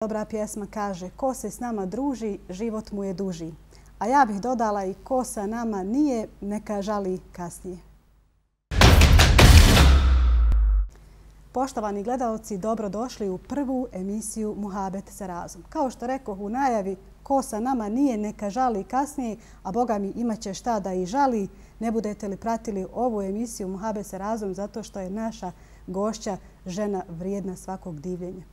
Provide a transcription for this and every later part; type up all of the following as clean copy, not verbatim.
Dobra pjesma kaže: ko se s nama druži, život mu je duži. A ja bih dodala i ko sa nama nije, neka žali kasnije. Poštovani gledalci, dobrodošli u prvu emisiju Muhabet sa Razom. Kao što rekoh u najavi, ko sa nama nije, neka žali kasnije, a Boga mi imat će šta da i žali. Ne budete li pratili ovu emisiju Muhabet sa Razom zato što je naša gošća žena vrijedna svakog divljenja.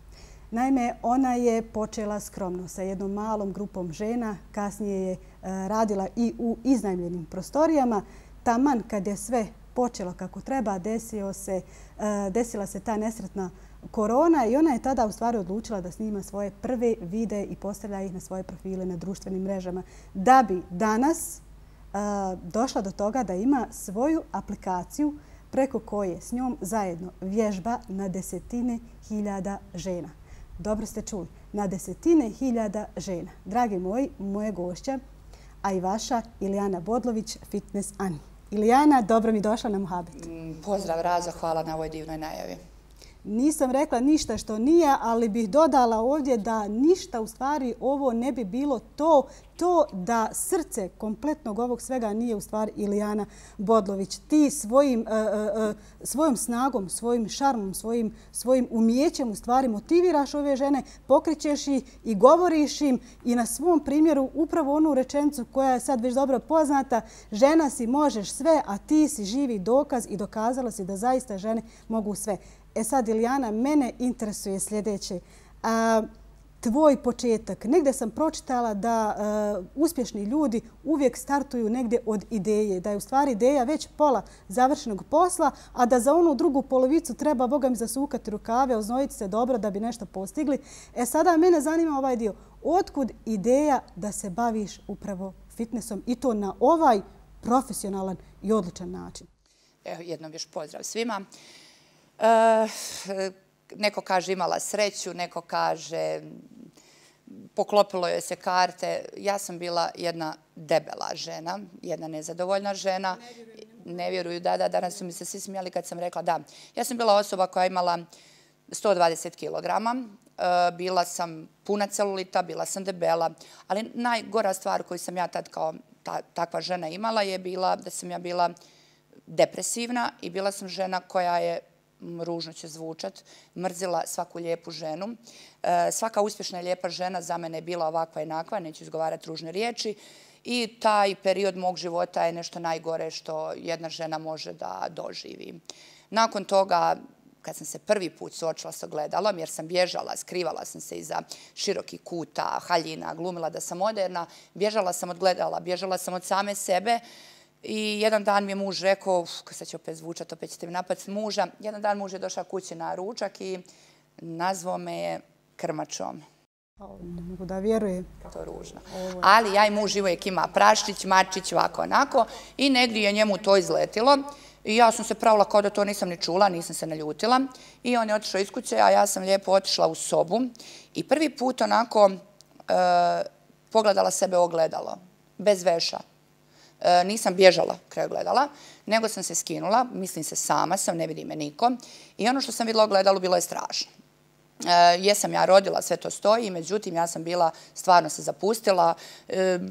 Naime, ona je počela skromno sa jednom malom grupom žena, kasnije je radila i u iznajmljenim prostorijama. Taman kad je sve počelo kako treba, desila se ta nesretna korona i ona je tada u stvari odlučila da snima svoje prve videe i postavlja ih na svoje profile na društvenim mrežama, da bi danas došla do toga da ima svoju aplikaciju preko koje s njom zajedno vježba na desetine hiljada žena. Dobro ste čuli, na desetine hiljada žena. Dragi moji, moje gošća, a i vaša, Ilijana Bodlović, Fitness Ani. Ilijana, dobro mi došla na Muhabet. Pozdrav Razo, hvala na ovoj divnoj najavi. Nisam rekla ništa što nije, ali bih dodala ovdje da ništa u stvari ovo ne bi bilo to da srce kompletnog ovog svega nije u stvari Ilijana Bodlović. Ti svojom snagom, svojim šarmom, svojim umijećem u stvari motiviraš ove žene, pokrećeš ih i govoriš im i na svom primjeru upravo onu rečenicu koja je sad već dobro poznata: žena si, možeš sve, a ti si živi dokaz i dokazala si da zaista žene mogu sve. E sad, Ilijana, mene interesuje sljedeće. Tvoj početak. Negdje sam pročitala da uspješni ljudi uvijek startuju negdje od ideje. Da je u stvari ideja već pola završenog posla, a da za onu drugu polovicu treba, Boga mi, zasukati rukave, oznojiti se dobro da bi nešto postigli. E sada mene zanima ovaj dio. Otkud ideja da se baviš upravo fitnessom i to na ovaj profesionalan i odličan način? Evo, jednom još pozdrav svima. Neko kaže imala sreću, neko kaže poklopilo joj se karte. Ja sam bila jedna debela žena, jedna nezadovoljna žena. Ne vjeruju, da, danas su mi se svi smijali kad sam rekla da. Ja sam bila osoba koja je imala 120 kilograma. Bila sam puna celulita, bila sam debela, ali najgora stvar koju sam ja tad kao takva žena imala je bila da sam ja bila depresivna i bila sam žena koja je, ružno će zvučat, mrzila svaku lijepu ženu. Svaka uspješna i lijepa žena za mene je bila ovakva i onakva, neću izgovarati ružne riječi. I taj period mog života je nešto najgore što jedna žena može da doživi. Nakon toga, kad sam se prvi put suočila s ogledalom, jer sam bježala, skrivala sam se iza širokih kuta, haljina, glumila da sam moderna, bježala sam od gledala, bježala sam od same sebe. I jedan dan mi je muž rekao, sad će opet zvučati, opet ćete mi napast muža, jedan dan muž je došao kući na ručak i nazvao me je krmačom. Ne mogu da vjerujem. To je ružno. Ali ja i muž uvijek ima praščić, mačić, ovako, onako. I negdje je njemu to izletilo. I ja sam se pravila kao da to nisam ni čula, nisam se naljutila. I on je otišao iz kuće, a ja sam lijepo otišla u sobu. I prvi put onako pogledala sebe u ogledalo, bez veša. Nisam bježala kraj gledala, nego sam se skinula, mislim se sama sam, ne vidi me niko. I ono što sam vidjela u gledalu bilo je strašno. Jesam ja rodila, sve to stoji, međutim ja sam bila, stvarno se zapustila,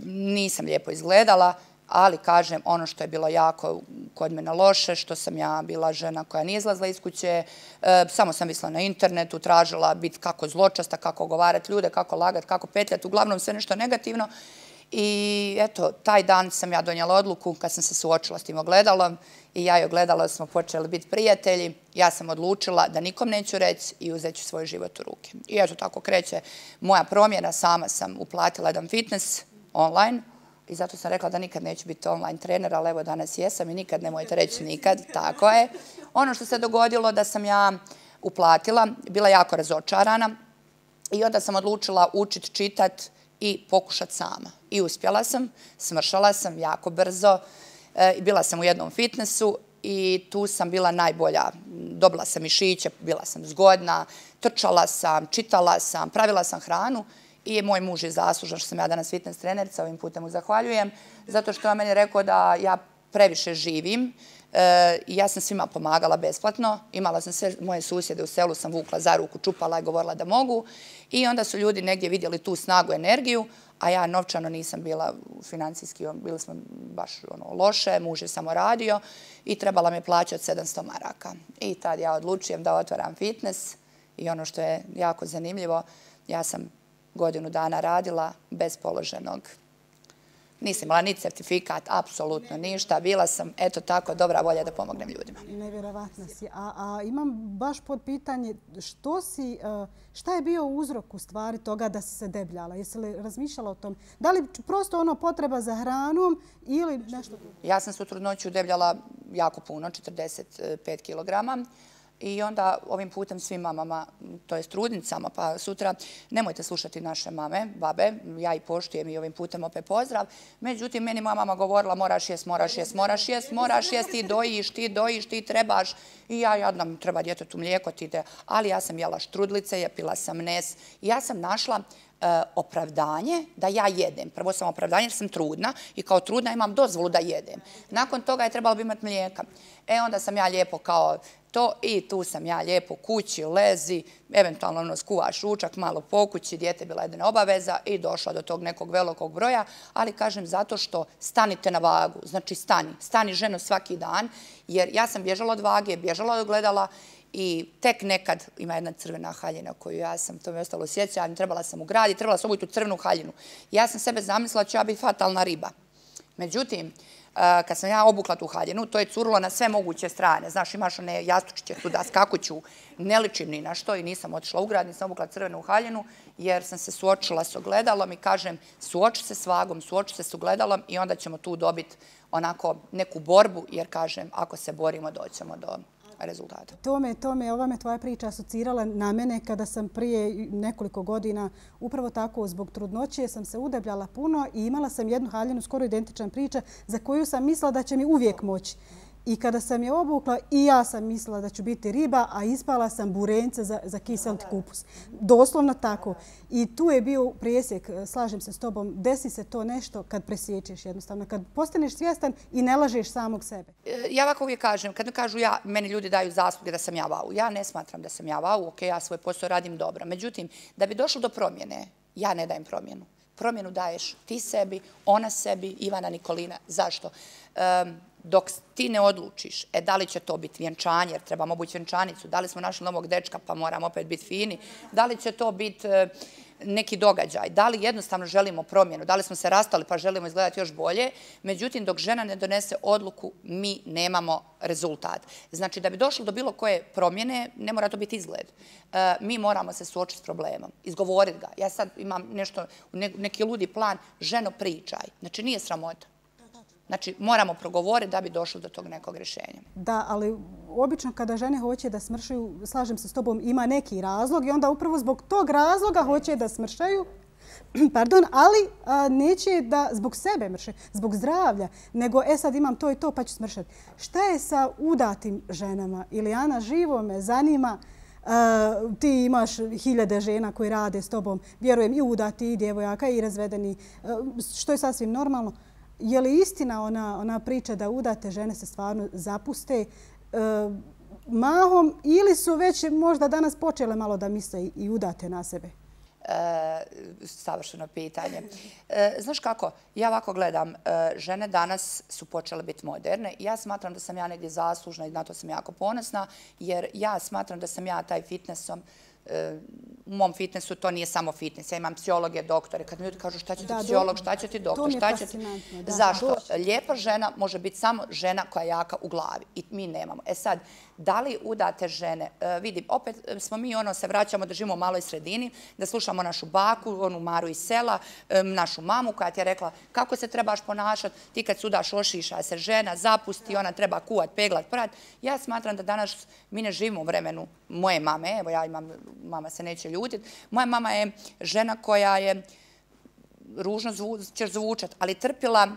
nisam lijepo izgledala, ali kažem ono što je bilo jako kod mene loše, što sam ja bila žena koja nije izlazila iz kuće, samo sam visla na internetu, tražila biti kako zločasta, kako ogovarati ljude, kako lagati, kako petljati, uglavnom sve nešto negativno. I eto, taj dan sam ja donijela odluku kad sam se suočila s tim ogledalom i ja i ogledalo smo počeli biti prijatelji. Ja sam odlučila da nikom neću reći i uzet ću svoj život u ruke. I eto tako kreće moja promjena. Sama sam uplatila jedan fitness online i zato sam rekla da nikad neću biti online trener, ali evo danas jesam i nikad nemojte reći nikad. Tako je. Ono što se dogodilo da sam ja uplatila, bila jako razočarana i onda sam odlučila učiti, čitati i pokušati sama. I uspjela sam, smršala sam jako brzo, bila sam u jednom fitnessu i tu sam bila najbolja. Dobila sam mišiće, bila sam zgodna, trčala sam, čitala sam, pravila sam hranu i moj muž je zaslužan što sam ja danas fitness trenerica, ovim putem mu zahvaljujem, zato što je meni rekao da ja previše živim, Ja sam svima pomagala besplatno. Imala sam sve moje susjede u selu, sam vukla za ruku, čupala i govorila da mogu. I onda su ljudi negdje vidjeli tu snagu, energiju, a ja novčano nisam bila financijski, bili smo baš loše, muž je samo radio i trebala mi plaćati 700 maraka. I tad ja odlučujem da otvaram fitness i ono što je jako zanimljivo, ja sam godinu dana radila bez položenog. Nisam imala ni certifikat, apsolutno ništa. Bila sam, eto tako, dobra volja da pomognem ljudima. Nevjerovatna si. A imam baš pod pitanje, šta je bio uzrok u stvari toga da si se debljala? Jesi li razmišljala o tom? Da li prosto potreba za hranom ili nešto drugo? Ja sam se u trudnoću debljala jako puno, 45 kilograma. I onda ovim putem svim mamama, to jest trudnicama, pa sutra nemojte slušati naše mame, babe, ja ih poštujem i ovim putem opet pozdrav. Međutim, meni moja mama govorila moraš jest, ti dojiš, ti trebaš. I ja jadna, treba djetetu mlijeko, ti ide. Ali ja sam jela štrudlice, pila sam nes. I ja sam našla opravdanje da ja jedem. Prvo sam opravdanje jer sam trudna i kao trudna imam dozvolu da jedem. Nakon toga je trebalo bi imati mlijeka. Onda sam ja lijepo kao to i tu sam ja lijepo kući, lezi, eventualno skuvaš ručak, malo po kući, dijete bila jedna obaveza i došla do tog nekog velikog broja, ali kažem zato što stanite na vagu, znači stani ženo svaki dan, jer ja sam bježala od vage, bježala od ogledala i tek nekad ima jedna crvena haljina koju ja sam, to mi je ostalo u sjećanju, trebala sam ugraditi, trebala sam obiti tu crvenu haljinu. Ja sam sebe zamislila da ću ja biti fatalna riba. Međutim, kad sam ja obukla tu haljinu, to je curilo na sve moguće strane. Znaš, imaš one jastučiće tu da skakuću, ne ličim ni na što i nisam otišla u grad, nisam obukla crvenu haljinu jer sam se suočila s ogledalom i kažem, suoči se s vagom, suoči se s ogledalom i onda ćemo tu dobiti onako neku borbu jer kažem, ako se borimo, doćemo do rezultata. Ova me tvoja priča asocirala na mene kada sam prije nekoliko godina upravo tako zbog trudnoće sam se udebljala puno i imala sam jednu haljinu skoro identičan priča za koju sam mislila da će mi uvijek moći. I kada sam je obukla i ja sam mislila da ću biti riba, a ispala sam burence za kiseliti kupus. Doslovno tako. I tu je bio presjek, slažem se s tobom, desi se to nešto kad presjećeš jednostavno, kad postaneš svjestan i ne lažeš samog sebe. Ja ovako uvijek kažem, kad mi kažu meni ljudi daju zasluge da sam ja vau. Ja ne smatram da sam ja vau, ok, ja svoj posao radim dobro. Međutim, da bi došlo do promjene, ja ne dajem promjenu. Promjenu daješ ti sebi, ona sebi, Ivana Nikolina. Zašto? Dok ti ne odlučiš, da li će to biti vjenčanje, jer trebamo obući vjenčanicu, da li smo našli novog dečka pa moramo opet biti fini, da li će to biti neki događaj, da li jednostavno želimo promjenu, da li smo se rastali pa želimo izgledati još bolje, međutim dok žena ne donese odluku mi nemamo rezultat. Znači da bi došlo do bilo koje promjene ne mora to biti izgled. Mi moramo se suočiti s problemom, izgovoriti ga. Ja sad imam nešto, neki ludi plan, ženo pričaj, znači nije sramota. Znači, moramo progovoriti da bi došli do tog nekog rješenja. Da, ali obično kada žene hoće da smršaju, slažem se s tobom, ima neki razlog i onda upravo zbog tog razloga hoće da smršaju, ali neće da zbog sebe mrše, zbog zdravlja, nego sad imam to i to pa ću smršati. Šta je sa udatim ženama? Ilijana, živo me zanima, ti imaš hiljade žena koji rade s tobom, vjerujem i udati, i djevojaka, i razvedeni, što je sasvim normalno. Je li istina ona priča da udate žene se stvarno zapuste mahom ili su već možda danas počele malo da misle i udate na sebe? Savršeno pitanje. Znaš kako, ja ovako gledam, žene danas su počele biti moderne i ja smatram da sam ja negdje zaslužna i na to sam jako ponosna jer ja smatram da sam ja taj fitnessom u mom fitnessu to nije samo fitness. Ja imam psihologe, doktore. Kad mi ljudi kažu šta će ti psiholog, šta će ti doktor, šta će ti... Zašto? Lijepa žena može biti samo žena koja je jaka u glavi. I mi nemamo. Sad, da li udate žene? Vidim, opet smo mi se vraćamo da živimo u maloj sredini, da slušamo našu baku, onu Maru iz sela, našu mamu koja ti je rekla kako se trebaš ponašati. Ti kad sudaš ošiša se žena, zapusti, ona treba kuvat, peglat, prat. Ja smatram da danas mi ne živimo u vremenu moje mame. Evo ja imam, mama se neće ljutiti. Moja mama je žena koja je, ružno ćeš zvučati, ali trpila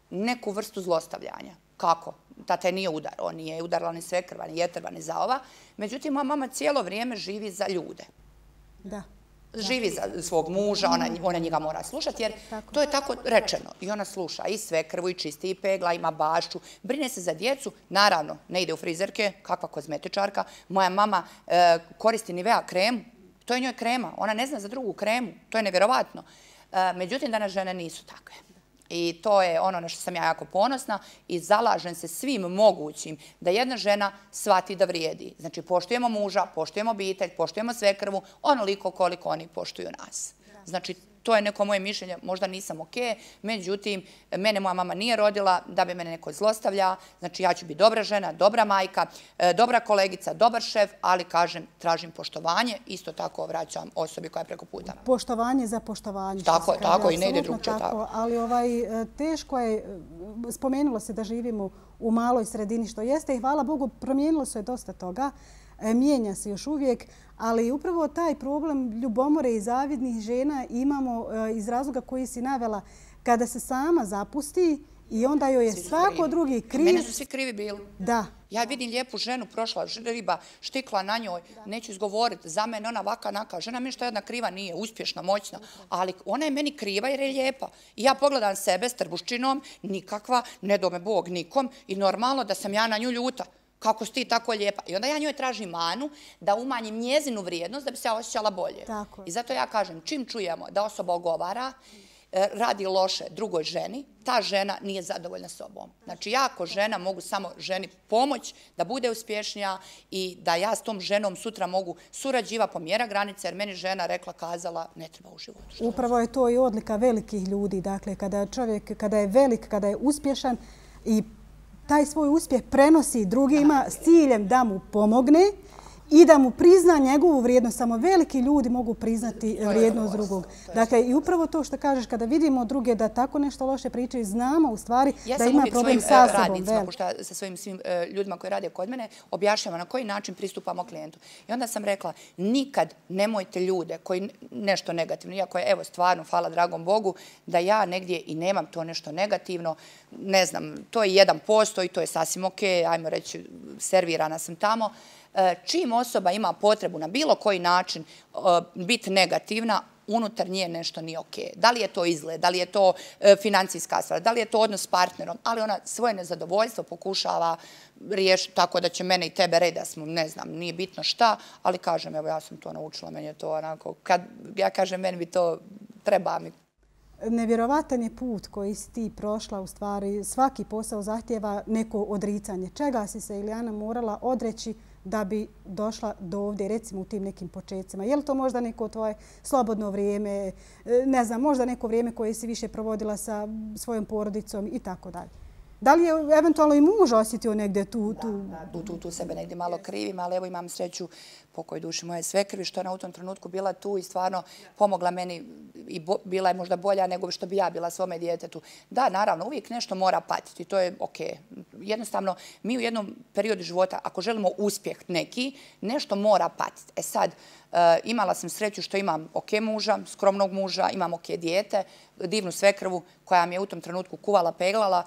neku vrstu zlostavljanja. Kako? Tata je nije udar. On nije udarala ni svekrva, ni jetrva, ni zaova. Međutim, moja mama cijelo vrijeme živi za ljude. Da. živi za svog muža, ona njega mora slušati, jer to je tako rečeno. I ona sluša i svekrvu, i čisti, i pegla, ima bašću, brine se za djecu, naravno, ne ide u frizerke, kakva kozmetičarka. Moja mama koristi Nivea kremu, to je njoj krema, ona ne zna za drugu kremu, to je nevjerovatno. Međutim, danas žene nisu takve. I to je ono na što sam ja jako ponosna i zalažem se svim mogućim da jedna žena shvati da vrijedi. Znači, poštujemo muža, poštujemo obitelj, poštujemo svekrvu, onoliko koliko oni poštuju nas. Znači, to je neko moje mišljenje, možda nisam okej, međutim, mene moja mama nije rodila da bi mene neko zlostavlja. Znači, ja ću biti dobra žena, dobra majka, dobra kolegica, dobar šef, ali kažem, tražim poštovanje, isto tako vraćam osobi koja je preko puta. Poštovanje za poštovanje. Tako, i ne ide drugčije tako. Ali teško je, spomenulo se da živimo u maloj sredini, što jeste i hvala Bogu, promijenilo se dosta toga. Mijenja se još uvijek, ali upravo taj problem ljubomore i zavidnih žena imamo iz razloga koji si navela kada se sama zapusti i onda joj je svako drugi kriv. Mene su svi krivi bili. Da. Ja vidim lijepu ženu, prošla riba, štikla na njoj, neću izgovoriti, za mene ona vaka naka. Žena mi što jedna kriva nije, uspješna, moćna, ali ona je meni kriva jer je lijepa. I ja pogledam sebe s trbuščinom, nikakva, ne do me Bog nikom i normalno da sam ja na nju ljuta. Kako si ti tako lijepa. I onda ja njoj tražim manu da umanjim njezinu vrijednost da bi se ja osjećala bolje. I zato ja kažem, čim čujemo da osoba ogovara, radi loše drugoj ženi, ta žena nije zadovoljna sobom. Znači, ja ako žena mogu samo ženi pomoć da bude uspješnija i da ja s tom ženom sutra mogu surađiva po mjera granice, jer meni žena rekla, kazala, ne treba u životu. Upravo je to i odlika velikih ljudi. Dakle, kada čovjek, kada je velik, kada je uspješan i taj svoj uspjeh prenosi drugima s ciljem da mu pomogne i da mu prizna njegovu vrijednost. Samo veliki ljudi mogu priznati vrijednost drugog. Dakle, i upravo to što kažeš, kada vidimo druge da tako nešto loše pričaju, znamo u stvari da ima problem sa sobom. Sa svojim svim ljudima koji rade kod mene, objašnjavam na koji način pristupamo klijentu. I onda sam rekla, nikad nemojte ljude koji nešto negativno, iako je, evo, stvarno, hvala dragom Bogu, da ja negdje i nemam to nešto negativno, ne znam, to je 1% i to je sasvim okej, ajmo reći, servirana sam tamo. Čim osoba ima potrebu na bilo koji način biti negativna, unutar nje nešto nije okej. Da li je to izgled, da li je to financijska stvar, da li je to odnos s partnerom, ali ona svoje nezadovoljstvo pokušava riješiti tako da će mene i tebe reći da smo, ne znam, nije bitno šta, ali kažem, evo ja sam to naučila, meni je to onako, kad ja kažem, meni bi to treba mi. Nevjerovatan je put koji si ti prošla, u stvari svaki posao zahtjeva neko odricanje. Čega si se, Ilijana, morala odreći da bi došla do ovdje, recimo u tim nekim početcima? Je li to možda neko tvoje slobodno vrijeme, ne znam, možda neko vrijeme koje si više provodila sa svojom porodicom i tako dalje? Da li je eventualno i muž osjetio negdje tu? Tu sebe negdje malo krivim, ali evo imam sreću, pokoj duši moje svekrvi, što je na u tom trenutku bila tu i stvarno pomogla meni i bila je možda bolja nego što bi ja bila svome djetetu. Da, naravno, uvijek nešto mora patiti, to je okej. Jednostavno, mi u jednom periodu života, ako želimo uspjeh neki, nešto mora patiti. E sad, imala sam sreću što imam okej muža, skromnog muža, imam okej dijete, divnu svekrvu koja mi je u tom trenutku kuvala, peglala.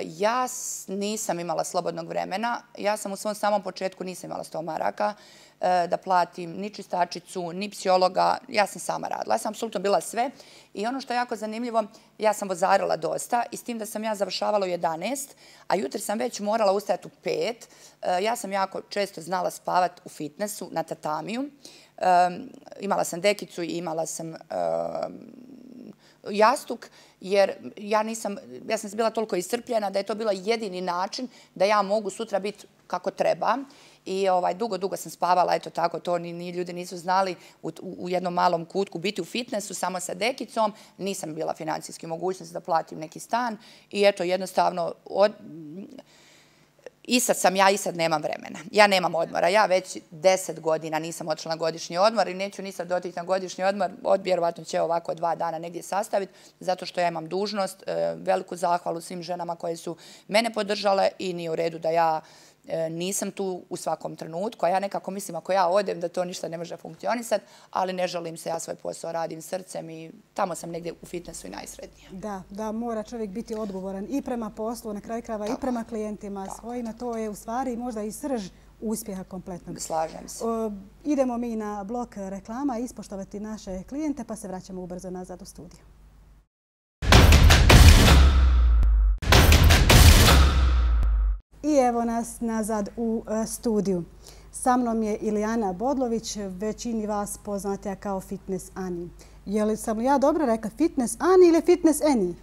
Ja nisam imala slobodnog vremena. Ja sam u svom samom početku nisam imala 100 maraka da platim ni čistačicu, ni psihologa. Ja sam sama radila. Ja sam apsolutno bila sve. I ono što je jako zanimljivo, ja sam vozarila dosta i s tim da sam ja završavala u 11, a jutri sam već morala ustajati u 5. Ja sam jako često znala spavati u fitnessu na tatamiju. Imala sam dekicu i imala sam jastuk, jer ja sam bila toliko iscrpljena da je to bilo jedini način da ja mogu sutra biti kako treba. I dugo sam spavala, eto tako, to ni ljudi nisu znali, u jednom malom kutku biti u fitnessu samo sa dekicom. Nisam bila financijski mogućnost da platim neki stan i eto jednostavno i sad sam ja i sad nemam vremena. Ja nemam odmora. Ja već 10 godina nisam otišla na godišnji odmor i neću ni sad otići na godišnji odmor. Vjerovatno će ovako 2 dana negdje sastaviti zato što ja imam dužnost. Veliku zahvalu svim ženama koje su mene podržale i nije u redu da ja nisam tu u svakom trenutku, a ja nekako mislim ako ja odem da to ništa ne može funkcionisati, ali ne želim se, ja svoj posao radim srcem i tamo sam negdje u fitnessu i najsretnija. Da, mora čovjek biti odgovoran i prema poslu, na kraju krajeva i prema klijentima svojima. To je u stvari možda i srž uspjeha kompletnog. Slažem se. Idemo mi na blok reklama, ispoštovati naše klijente, pa se vraćamo ubrzo nazad u studiju. I evo nas nazad u studiju. Sa mnom je Ilijana Bodlović, većini vas poznatija kao Fitness Ani. Je li sam li ja dobro rekla Fitness Ani ili Fitness Eni?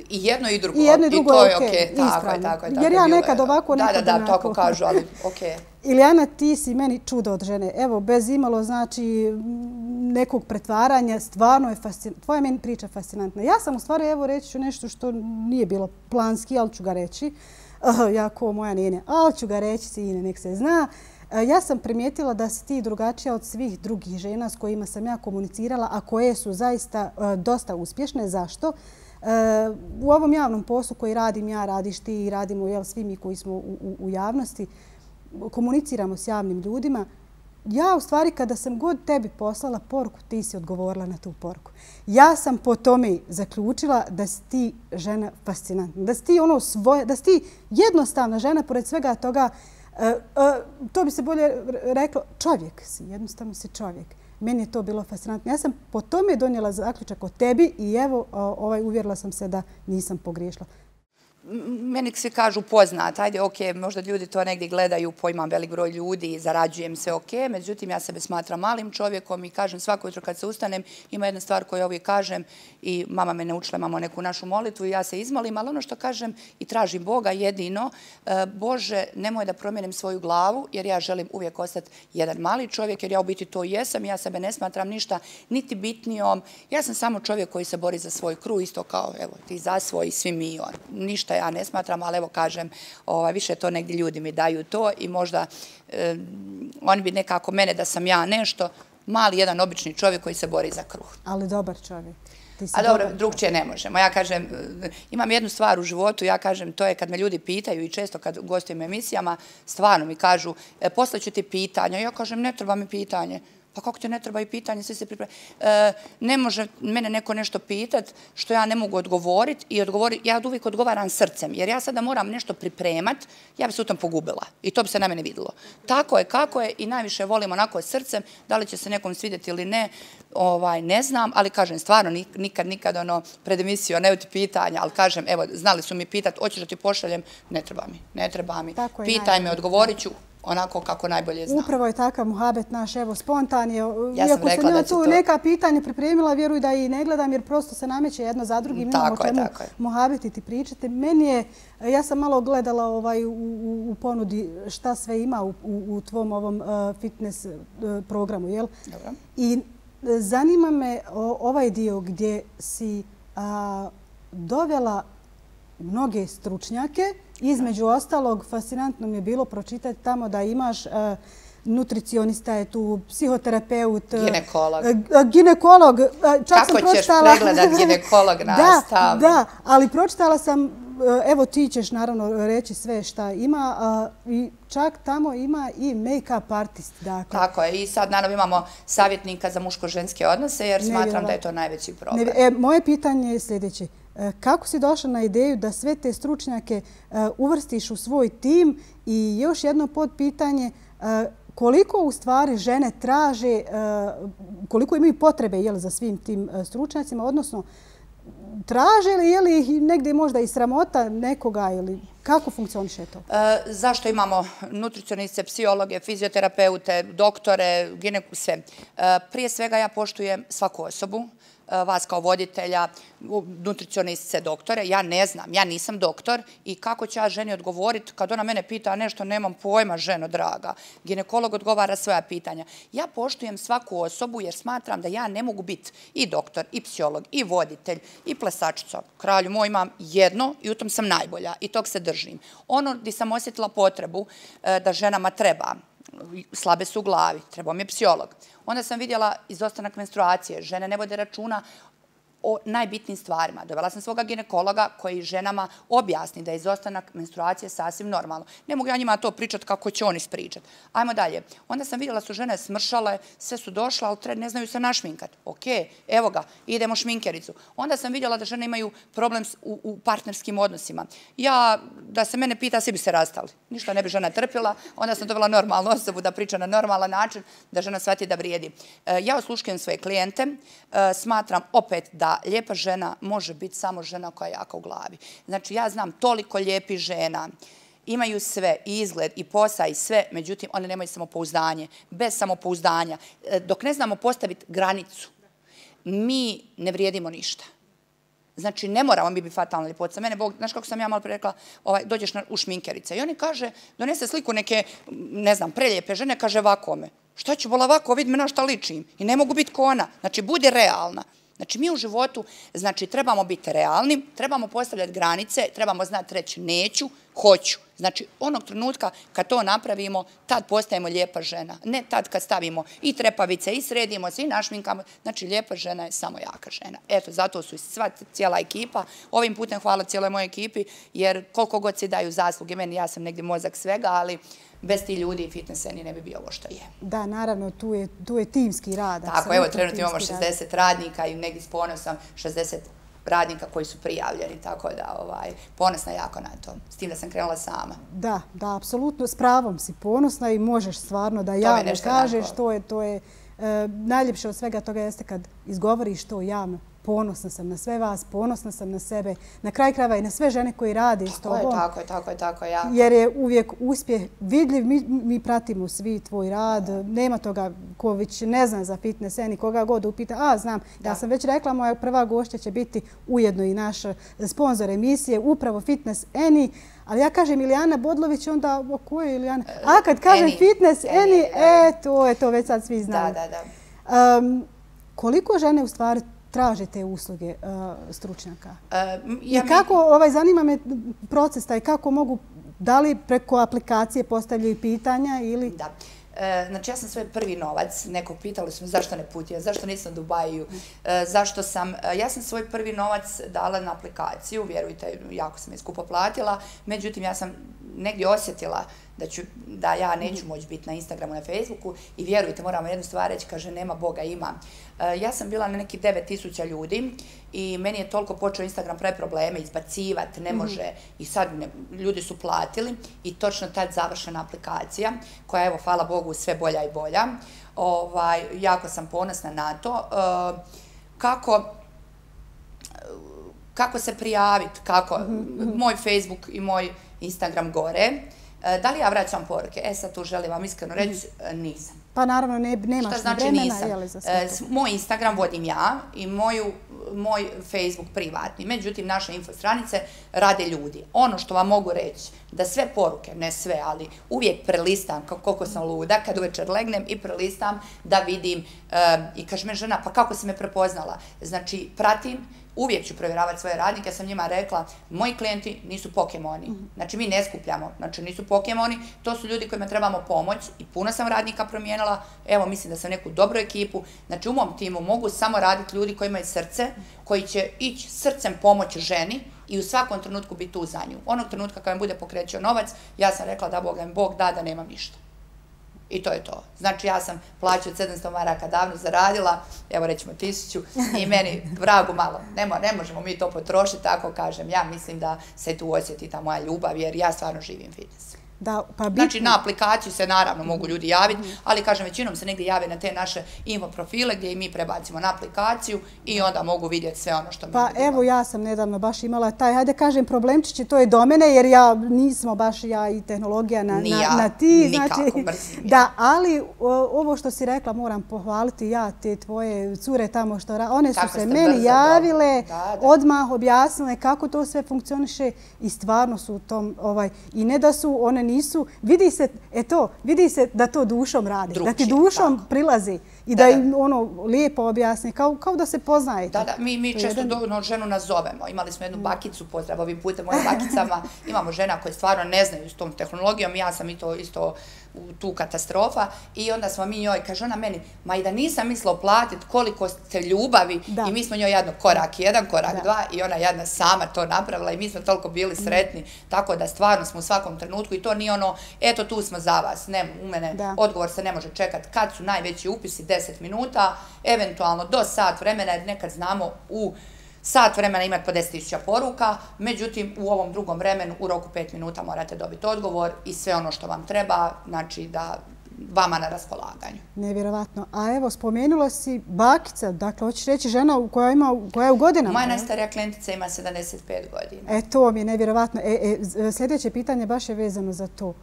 I jedno i drugo. I jedno i drugo je okej, Tako je. Jer ja nekad ovako, nekad onako. Da, tako kažu, ali okej. Ilijana, ti si meni čudo od žene. Evo, bez imalo znači nekog pretvaranja, stvarno je fascinantno. Tvoja meni priča fascinantna. Ja sam u stvari, evo, reći ću nešto što nije bilo planski, ali ću ga reći. Ja ko moja nene, ali ću ga reći, sine, nek se zna. Ja sam primijetila da si ti drugačija od svih drugih žena s kojima sam ja komunicirala, a koje su zaista dosta uspješne. Zašto? U ovom javnom poslu koji radim ja, radiš ti i radimo svi mi koji smo u javnosti, komuniciramo s javnim ljudima. Ja u stvari kada sam god tebi poslala poruku, ti si odgovorila na tu poruku. Ja sam po tome zaključila da si ti žena fascinantna, da si ti ono svoje, da si ti jednostavna žena, pored svega toga, to bi se bolje reklo, čovjek si, jednostavno si čovjek. Meni je to bilo fascinantno. Ja sam po tome donijela zaključak o tebi i evo, uvjerila sam se da nisam pogriješila. Meni svi kažu poznat, ajde, okej, možda ljudi to negdje gledaju, imam velik broj ljudi, zarađujem se, okej, međutim, ja sebe smatram malim čovjekom i kažem svako jutro kad se ustanem, ima jedna stvar koju uvijek kažem i mama me naučila, imamo neku našu molitvu i ja se izmolim, ali ono što kažem i tražim Boga jedino, Bože, nemoj da promijenim svoju glavu, jer ja želim uvijek ostati jedan mali čovjek, jer ja u biti to jesam, ja sebe ne smatram ništa niti bitnijom, ja sam samo čovjek koji se bori za svoj kruh, isto kao, evo, ti za svoj, svi mi, ništa ja ne smatram, ali evo kažem, više to negdje ljudi mi daju to i možda oni bi nekako mene da sam ja nešto, mali jedan obični čovjek koji se bori za kruh. Ali dobar čovjek. A dobro, drugčije ne možemo. Ja kažem, imam jednu stvar u životu, ja kažem, to je kad me ljudi pitaju i često kad gostujem emisijama, stvarno mi kažu, poslaću ti pitanja. Ja kažem, ne treba mi pitanje. Pa kako te ne treba i pitanje, svi se pripremi. Ne može mene neko nešto pitat što ja ne mogu odgovoriti i ja uvijek odgovaram srcem, jer ja sada moram nešto pripremat, ja bi se u tom pogubila i to bi se na mene vidjelo. Tako je, kako je i najviše volim onako srcem, da li će se nekom svidjeti ili ne, ne znam, ali kažem stvarno nikad pred emisijom ne ti pitanja, ali kažem, evo, znali su mi pitat, hoćeš da ti pošaljem, ne treba mi. Pitaj me, odgovorit ću onako kako najbolje znam. Upravo je takav muhabet naš, evo, spontan je. Ja sam rekla da ću to. Neka pitanja pripremila, vjeruj da i ne gledam, jer prosto se nameće jedno za drugim. Tako je. Muhabetiti, pričate. Meni je, ja sam malo gledala u ponudi šta sve ima u tvom ovom fitness programu, jel? Dobro. I zanima me ovaj dio gdje si dovela mnoge stručnjake. Između ostalog, fascinantno mi je bilo pročitati tamo da imaš nutricionista je tu, psihoterapeut, ginekolog. Kako ćeš pregledat ginekolog nas tamo? Da, ali pročitala sam, evo ti ćeš naravno reći sve šta ima, i čak tamo ima i make-up artist. Tako je, i sad naravno imamo savjetnika za muško-ženske odnose, jer smatram da je to najveći problem. Moje pitanje je sljedeće. Kako si došla na ideju da sve te stručnjake uvrstiš u svoj tim i još jedno podpitanje, koliko u stvari žene traže, koliko imaju potrebe za svim tim stručnjacima, odnosno traže li ih negdje možda i sramota nekoga ili kako funkcioniše to? Zašto imamo nutricioniste, psihologe, fizioterapeute, doktore, sve? Prije svega ja poštujem svaku osobu, vas kao voditelja, nutricioniste, doktore. Ja ne znam, ja nisam doktor i kako ću ja ženi odgovoriti kad ona mene pita nešto, nemam pojma, ženo draga. Ginekolog odgovara svoja pitanja. Ja poštujem svaku osobu jer smatram da ja ne mogu biti i doktor, i psiholog, i voditelj, i plesačica. Kralju moj, imam jedno i u tom sam najbolja i tog se držim. Ono gdje sam osjetila potrebu da ženama treba, slabe su u glavi, trebao mi je psiholog. Onda sam vidjela izostanak menstruacije. Žene ne vode računa o najbitnijim stvarima. Dovela sam svoga ginekologa koji ženama objasni da je izostanak menstruacije sasvim normalno. Ne mogu ja njima to pričati kako će oni ispričati. Ajmo dalje. Onda sam vidjela su žene smršale, sve su došle, ali ne znaju se našminkati. Ok, evo ga, idemo šminkericu. Onda sam vidjela da žene imaju problem u partnerskim odnosima. Ja, da se mene pita, svi bi se rastali. Ništa ne bi žena trpila. Onda sam dovela normalnu osobu da priča na normalan način, da žena shvati da vrijedi. Ja osluškujem svoje klijente. Smatram opet da lijepa žena može biti samo žena koja je jaka u glavi. Znači, ja znam toliko lijepih žena, imaju sve, i izgled, i posao, i sve, međutim, one nemaju samopouzdanje. Bez samopouzdanja, dok ne znamo postaviti granicu, mi ne vrijedimo ništa. Znači, ne moramo mi biti fatalna ljepotica. Mene, Bog, znaš kako sam ja malo prije rekla, dođeš u šminkerice. I oni kaže, donese sliku neke, ne znam, prelijepe žene, kaže ovakome. Šta ću bola ovako, vidi me na šta ličim. I ne mogu biti ko ona. Znači, budi realna. Znači, mi u životu, znači, trebamo biti realni, trebamo postavljati granice, trebamo znati reći neću, hoću. Znači, onog trenutka kad to napravimo, tad postajemo lijepa žena. Ne tad kad stavimo i trepavice, i sredimo se, i našminkamo. Znači, lijepa žena je samo jaka žena. Eto, zato su sva cijela ekipa. Ovim putem hvala cijeloj mojoj ekipi, jer koliko god se daju zasluge meni, ja sam negdje mozak svega, ali bez ti ljudi i fitness sceni ne bi bio ovo što je. Da, naravno, tu je timski rad. Tako, evo, trenutno imamo 60 radnika i negdje s ponosom 60 radnika koji su prijavljeni, tako da ponosna jako na to. S tim da sam krenula sama. Da, apsolutno, s pravom si ponosna i možeš stvarno da javno kažeš, to je najljepše od svega toga jeste kad izgovoriš to javno. Ponosna sam na sve vas, ponosna sam na sebe, na kraj krajeva i na sve žene koji rade s tobom. Tako je. Jer je uvijek uspjeh vidljiv, mi pratimo svi tvoj rad, nema toga ko već ne zna za fitness sceni, koga god upita, znam, ja sam već rekla, moja prva gošća će biti ujedno i naš sponzor emisije, upravo Fitness Eni, ali ja kažem Ilijana Bodlović, onda o kojoj Ilijana? A kad kažem Fitness Eni, to je to, već sad svi znaju. Koliko žene u stvari traže te usluge stručnjaka? I kako, zanima me proces taj, kako mogu, da li preko aplikacije postavljaju pitanja ili... Da. Znači, ja sam svoj prvi novac, nekog pitali su me zašto ne putio, zašto nisam u Dubaju, ja sam svoj prvi novac dala na aplikaciju, vjerujte, jako sam je skupo platila, međutim, ja sam negdje osjetila da ja neću moći biti na Instagramu, na Facebooku i vjerujte, moramo jednu stvar reći, kaže, nema Boga, ima. Ja sam bila na nekih 9000 ljudi i meni je toliko počeo Instagram pravi probleme, izbacivati, ne može i sad ljudi su platili i točno tad završena aplikacija koja je, evo, hvala Bogu, sve bolja i bolja. Jako sam ponosna na to. Kako se prijaviti, kako moj Facebook i moj Instagram gore. Da li ja vraćam poruke? Sad tu želim vam iskreno reći, nisam. Pa naravno nemaš vremena za sve to. Moj Instagram vodim ja i moj Facebook privatni. Međutim, naše info stranice rade ljudi. Ono što vam mogu reći, da sve poruke, ne sve, ali uvijek prelistam koliko sam luda, kad uvečer legnem i prelistam da vidim i kaže me žena, pa kako si me prepoznala? Znači, pratim, uvijek ću provjeravati svoje radnike, ja sam njima rekla, moji klijenti nisu pokemoni. Znači, mi ne skupljamo, znači nisu pokemoni, to su ljudi kojima trebamo pomoć i puno sam radnika promijenila, evo, mislim da sam neku dobru ekipu, znači u mom timu mogu samo raditi ljudi koji imaju srce, koji će ići srcem pomoći ženi i u svakom trenutku biti tu za nju. Onog trenutka kad mi bude pokrećio novac, ja sam rekla da Bog da nemam ništa. I to je to. Znači, ja sam plaću od 700 maraka davno zaradila, evo rećemo 1000, i meni vragu malo. Ne možemo mi to potrošiti, tako kažem. Ja mislim da se tu osjeti ta moja ljubav, jer ja stvarno živim fitness. Znači, na aplikaciju se naravno mogu ljudi javiti, ali kažem, većinom se negdje jave na te naše info profile gdje i mi prebacimo na aplikaciju i onda mogu vidjeti sve ono što mi vidimo. Pa evo, ja sam nedavno baš imala taj, hajde kažem, problemčići, to je do mene, jer ja nismo baš ja i tehnologija na ti. Nikako, mrzim. Da, ali ovo što si rekla moram pohvaliti ja, te tvoje cure tamo što one su se meni javile, odmah objasnile kako to sve funkcioniše i stvarno su u tom, i ne da su one nisu, vidi se da to dušom radi, da ti dušom prilazi. i da im lijepo objasni, kao da se poznajete. Da, mi često ženu nazovemo. Imali smo jednu bakicu, pozdrav ovim putem mojim bakicama, imamo žena koje stvarno ne znaju s tom tehnologijom, ja sam i to isto tu katastrofa i onda smo mi njoj, kaže ona meni, ma i da nisam mislila platiti koliko ste ljubavi i mi smo njoj jedno korak jedan, korak dva i ona jedna sama to napravila i mi smo toliko bili sretni, tako da stvarno smo u svakom trenutku i to nije ono, eto tu smo za vas, ne, u mene odgovor se ne može čekati kad su najveći upisi 10 minuta, eventualno do sat vremena, jer nekad znamo u sat vremena imati po 10.000 poruka, međutim u ovom drugom vremenu u roku 5 minuta morate dobiti odgovor i sve ono što vam treba, znači da vama na raspolaganju. Nevjerovatno. A evo, spomenula si bakica, dakle, hoćeš reći žena koja je u godinama? Moja najstarija klijentica ima 75 godina. To mi je nevjerovatno. Sljedeće pitanje baš je vezano za to.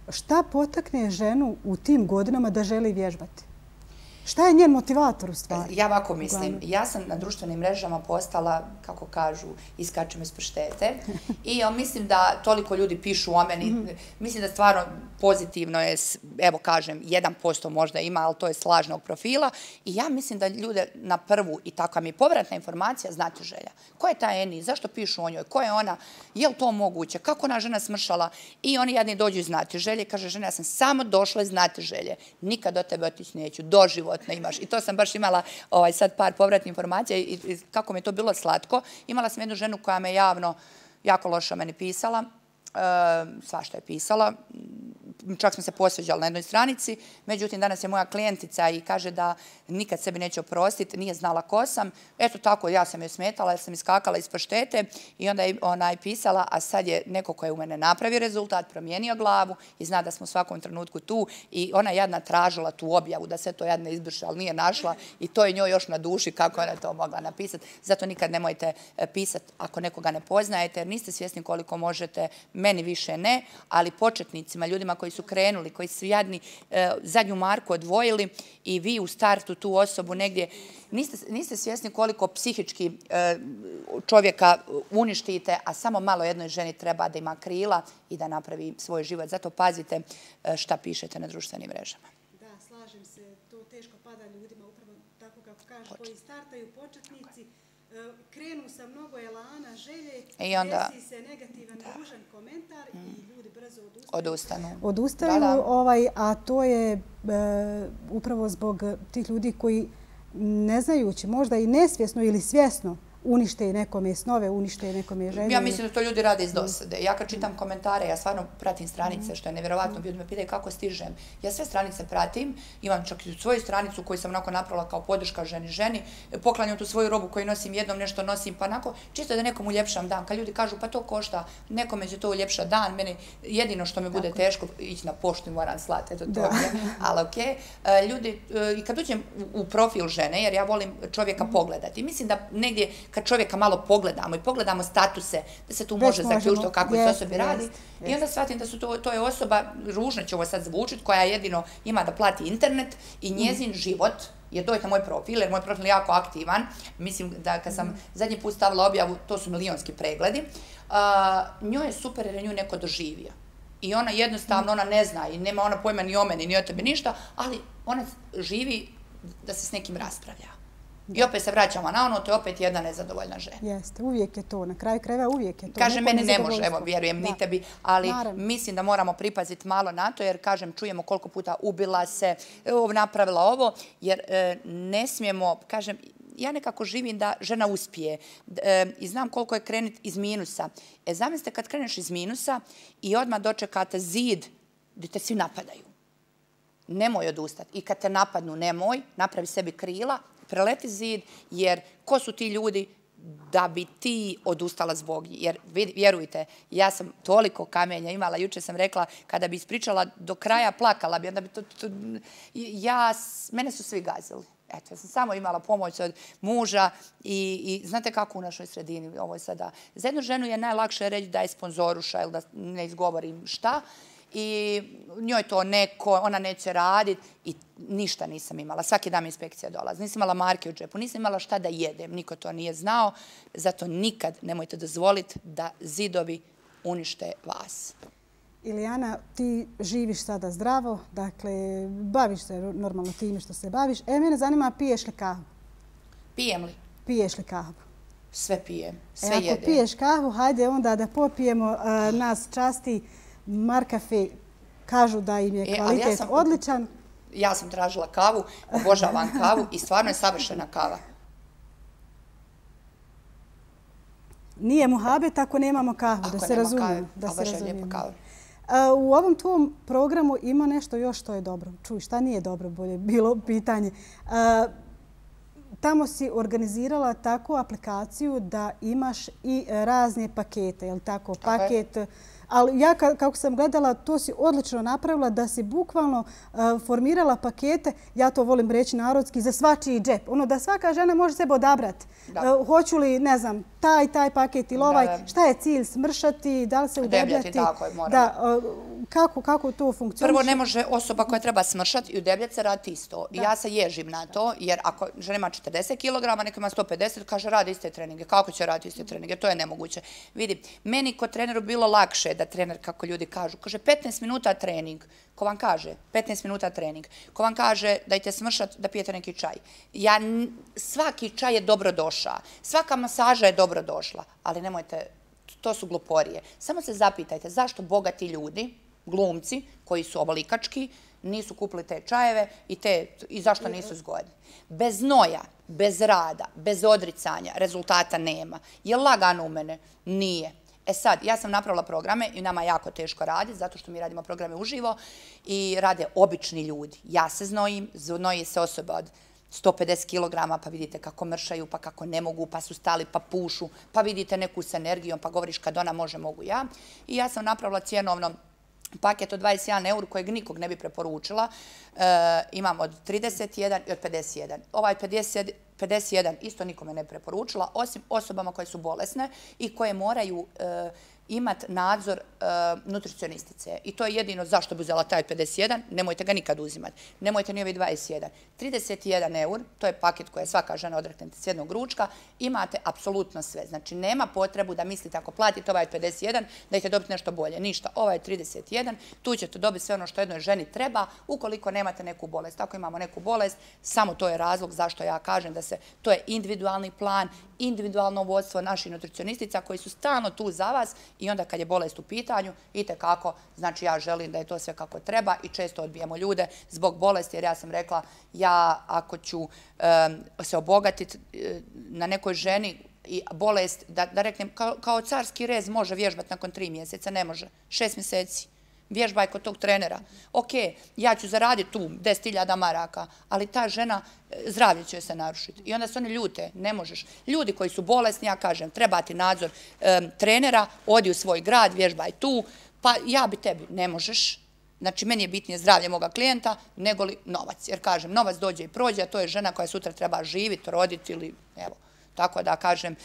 Šta potakne ženu u tim godinama da želi vježbati? Šta je njen motivator u stvari? Ja ovako mislim, ja sam na društvenim mrežama postala, kako kažu, iskačem iz paštete i mislim da toliko ljudi pišu o meni, mislim da stvarno pozitivno je, evo kažem, 1% možda ima, ali to je s lažnog profila i ja mislim da ljude na prvu i takva mi je povratna informacija znati želja. Ko je ta Eni, zašto pišu o njoj, ko je ona, je li to moguće, kako ona žena smršala i oni jedni dođu znati želje, kaže žena, ja sam samo došla znati želje, nikad do tebe otići neću, doživotno imaš. I to sam baš imala sad par povratnih informacija i kako mi je to bilo slatko. Imala sam jednu ženu koja me javno jako loše meni pisala, svašta je pisala, čak smo se posveđali na jednoj stranici, međutim danas je moja klijentica i kaže da nikad sebi neće oprostiti, nije znala ko sam. Eto tako, ja sam joj smetala jer sam iskakala iz paštete i onda je ona je pisala, a sad je neko ko je u mene napravio rezultat, promijenio glavu i zna da smo u svakom trenutku tu i ona je jadna tražila tu objavu da se to jadna izbrše, ali nije našla i to je njoj još na duši kako ona to mogla napisati. Zato nikad nemojte pisati ako nekoga ne poznajete jer niste svjesni koliko možete, meni više ne, ali početnicima, ljudima koji su krenuli, koji su jadni zadnju marku odvojili i vi u startu tu osobu negdje niste svjesni koliko psihički čovjeka uništite, a samo malo jednoj ženi treba da ima krila i da napravi svoj život. Zato pazite šta pišete na društvenim mrežama. Da, slažem se. To teško pada ljudima, upravo tako kako kažeš, koji startaju početnici, krenu sa mnogo elana, želje, desi se negativan, ružan komentar i ljudi brzo odustanu. A to je upravo zbog tih ljudi koji ne znajući, možda i nesvjesno ili svjesno, unište nekome snove, unište nekome želje. Ja mislim da to ljudi rade iz dosade. Ja kad čitam komentare, ja stvarno pratim stranice, što je nevjerovatno. Ljudi me pitaju kako stižem. Ja sve stranice pratim, imam čak i svoju stranicu koju sam onako napravila kao podrška ženi. Poklanjam tu svoju robu koju nosim, jednom nešto nosim, pa onako čisto da nekom uljepšam dan. Kad ljudi kažu pa to košta, nekome će to uljepšati dan, meni jedino što mi bude teško, ići na poštu i moram slati, eto to je, ali okej. Ljudi, i kad uđem u profil žene, jer ja volim čovjeka pogledati, mislim da negdje kad čovjeka malo pogledamo i pogledamo statuse, da se tu može zaključiti o kakvoj se osobi radi. I onda shvatim da to je osoba, ružno će ovo sad zvučiti, koja jedino ima da plati internet i njezin život je doći na moj profil, jer moj profil je jako aktivan. Mislim da kad sam zadnji put stavila objavu, to su milionski pregledi, njoj je super jer je nju neko doživio. I ona jednostavno, ona ne zna i nema ona pojma ni o meni, ni o tebi ništa, ali ona živi da se s nekim raspravlja. I opet se vraćamo na ono, to je opet jedna nezadovoljna žena. Jeste, uvijek je to, na kraju krajeva uvijek je to. Kaže, meni ne može, evo, vjerujem, ni tebi, ali mislim da moramo pripaziti malo na to, jer, kažem, čujemo koliko puta ubila se, napravila ovo, jer ne smijemo, kažem, ja nekako živim da žena uspije i znam koliko je krenuti iz minusa. Zamislite kad kreneš iz minusa i odmah dočekate zid gdje te svi napadaju. Nemoj odustati. I kad te napadnu, nemoj, napravi sebi krila, preleti zid, jer ko su ti ljudi da bi ti odustala zbog njih? Jer vjerujte, ja sam toliko kamenja imala, jučer sam rekla, kada bi ispričala do kraja, plakala bi, onda bi mene su svi gazili. Eto, ja sam samo imala pomoć od muža i znate kako u našoj sredini ovo je sada. Za jednu ženu je najlakše reći da je sponzoruša ili da ne izgovorim šta, i njoj to neko, ona neće raditi i ništa nisam imala. Svaki dan mi inspekcija dolazi. Nisam imala marke u džepu, nisam imala šta da jedem, niko to nije znao. Zato nikad nemojte dozvoliti da zidovi unište vas. Ilijana, ti živiš sada zdravo, dakle, baviš se normalno time što se baviš. Mene zanima, piješ li kahu? Pijem li? Piješ li kahu? Sve pijem, sve jedem. Ako piješ kahu, hajde onda da popijemo. Nas časti Markafe, kažu da im je kvalitet odličan. Ja sam tražila kavu, obožavam kavu i stvarno je savršena kava. Nije muhabet ako nemamo kahu, da se razumijemo. U ovom tvom programu ima nešto još što je dobro. Čuj, šta nije dobro, bolje bilo pitanje. Tamo si organizirala takvu aplikaciju da imaš i razne pakete, je li tako? Paket. Ali ja kako sam gledala, to si odlično napravila da si bukvalno formirala pakete, ja to volim reći narodski, za svačiji džep. Ono da svaka žena može sebe odabrati. Hoću li, ne znam, taj paket ili ovaj, šta je cilj, smršati, da li se udebljati? Udebljati, tako je, moramo. Kako to funkcioniše? Prvo, ne može osoba koja treba smršati i udebljati se raditi isto. Ja se ježim na to, jer ako žena ima 40 kg, neko ima 150, kaže radi iste treninge. Kako će raditi iste treninge? To je nemoguće. Vidi, meni kod treneru bilo lakše da trener, kako ljudi kažu, kaže 15 minuta trening. Ko vam kaže 15 minuta trening? Ko vam kaže dajte smršati da pijete neki čaj? Svaki čaj je dobro došao. Svaka masaža je dobro došla. Ali nemojte, to su gluporije. Samo se zapitajte zašto bogati ljudi, glumci koji su ovolikački, nisu kupili te čajeve i zašto nisu zgodni. Bez znoja, bez rada, bez odricanja rezultata nema. Je lagano u mene? Nije. Sad, ja sam napravila programe i nama je jako teško raditi zato što mi radimo programe uživo i rade obični ljudi. Ja se znojim, znoji se osoba od 150 kg, pa vidite kako mršaju, pa kako ne mogu, pa su stali, pa pušu, pa vidite neku s energijom, pa govoriš kad ona može, mogu ja. I ja sam napravila cjenovno paket od 21 € kojeg nikog ne bi preporučila. Imam od 31 i od 51. Ovaj 51 isto nikome ne preporučila, osim osobama koje su bolesne i koje moraju imati nadzor nutricionistice. I to je jedino zašto bi uzela taj 51, nemojte ga nikad uzimati. Nemojte ni ovaj 21. 31 €, to je paket koje svaka žena odrekne s jednog ručka, imate apsolutno sve. Znači, nema potrebu da mislite ako platite ovaj 51, da ćete dobiti nešto bolje. Ništa, ovaj 31, tu ćete dobiti sve ono što jednoj ženi treba, ukoliko nemate neku bolest. Ako imamo neku bolest, samo to je razlog zašto ja kažem da to je individualni plan, individualno vodstvo naših nutricionistica koji su stalno tu za vas i onda kad je bolest u pitanju, itekako, znači ja želim da je to sve kako treba i često odbijemo ljude zbog bolesti jer ja sam rekla ja ako ću se obogatiti na nekoj ženi i bolest, da reknem kao carski rez može vježbati nakon 3 mjeseca, ne može, 6 mjeseci. Vježbaj kod tog trenera. Ok, ja ću zaraditi tu 10.000 maraka, ali ta žena, zdravlje će se narušiti. I onda se oni ljute, ne možeš. Ljudi koji su bolesni, ja kažem, treba ti nadzor trenera, odi u svoj grad, vježbaj tu, pa ja bi tebi, ne možeš. Znači, meni je bitnije zdravlje moga klijenta nego li novac. Jer kažem, novac dođe i prođe, a to je žena koja sutra treba živjeti, roditi ili, evo. Tako da, kažem,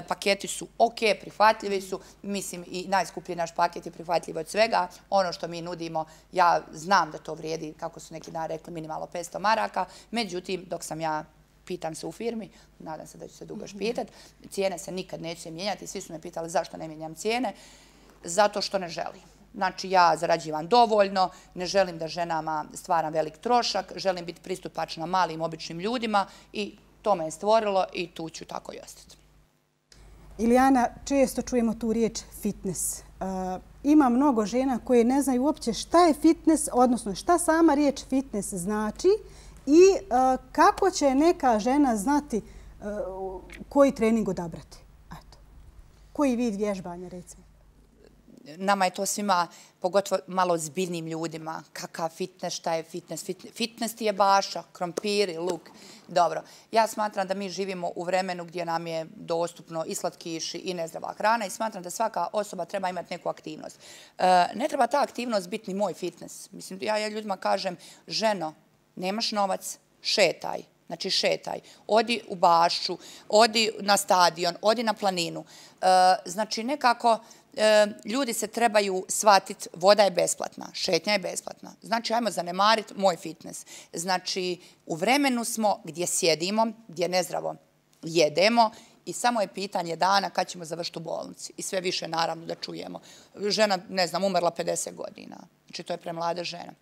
paketi su ok, prihvatljivi su. Mislim, i najskuplji naš paket je prihvatljiv od svega. Ono što mi nudimo, ja znam da to vrijedi, kako su neki dan rekli, minimalno 500 maraka. Međutim, dok sam ja, pitam se u firmi, nadam se da ću se dugo još pitati, cijene se nikad neće mijenjati. Svi su me pitali zašto ne mijenjam cijene. Zato što ne želim. Znači, ja zarađivam dovoljno, ne želim da ženama stvaram velik trošak, želim biti pristupačna malim, običnim ljudima i to me je stvorilo i tu ću tako i ostati. Ilijana, često čujemo tu riječ fitness. Ima mnogo žena koje ne znaju uopće šta je fitness, odnosno šta sama riječ fitness znači i kako će neka žena znati koji trening odabrati. Koji vid vježbanja, recimo? Nama je to svima, pogotovo malo ozbiljnim ljudima, kakav fitness, šta je fitness. Fitness ti je baša, krompiri, luk. Dobro, ja smatram da mi živimo u vremenu gdje nam je dostupno i slatkiši i nezdrava hrana i smatram da svaka osoba treba imati neku aktivnost. Ne treba ta aktivnost biti ni moj fitness. Mislim, ja ljudima kažem, ženo, nemaš novac, šetaj. Znači šetaj, odi u bašću, odi na stadion, odi na planinu. Znači nekako ljudi se trebaju shvatiti, voda je besplatna, šetnja je besplatna. Znači ajmo zanemariti moj fitness. Znači u vremenu smo gdje sjedimo, gdje nezdravo jedemo I samo je pitanje dana kad ćemo završiti u bolnici. I sve više, naravno, da čujemo. Žena, ne znam, umrla 50 godina. Znači, to je premlada žena.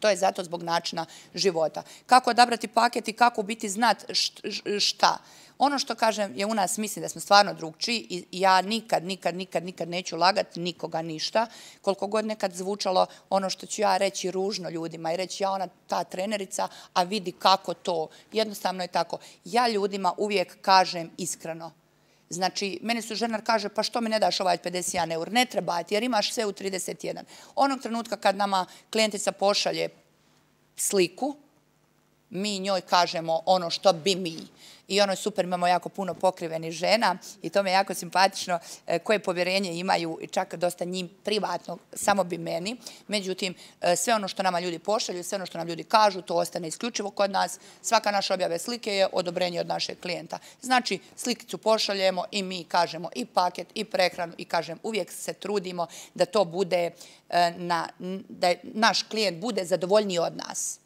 To je zato zbog načina života. Kako odabrati paket i kako biti znat šta. Ono što kažem je u nas, mislim da smo stvarno drugčiji i ja nikad neću lagati nikoga ništa. Koliko god nekad zvučalo ono što ću ja reći ružno ljudima i reći ja ona ta trenerica, a vidi kako to. Jednostavno je tako. Ja ljudima uvijek kažem iskreno. Znači, meni su ženar kaže, pa što mi ne daš ovaj 51 eur? Ne treba ti, jer imaš sve u 31. Onog trenutka kad nama klijentica pošalje sliku, mi njoj kažemo ono što bi mi. I ono je super, imamo jako puno pokrivenih žena i to mi je jako simpatično koje povjerenje imaju, čak dosta njim privatno, samo bi meni. Međutim, sve ono što nama ljudi pošalju, sve ono što nam ljudi kažu, to ostane isključivo kod nas. Svaka naša objave slike je odobrenje od našeg klijenta. Znači, slikicu pošaljemo i mi kažemo i paket i prehranu i kažem, uvijek se trudimo da to bude, da naš klijent bude zadovoljniji od nas.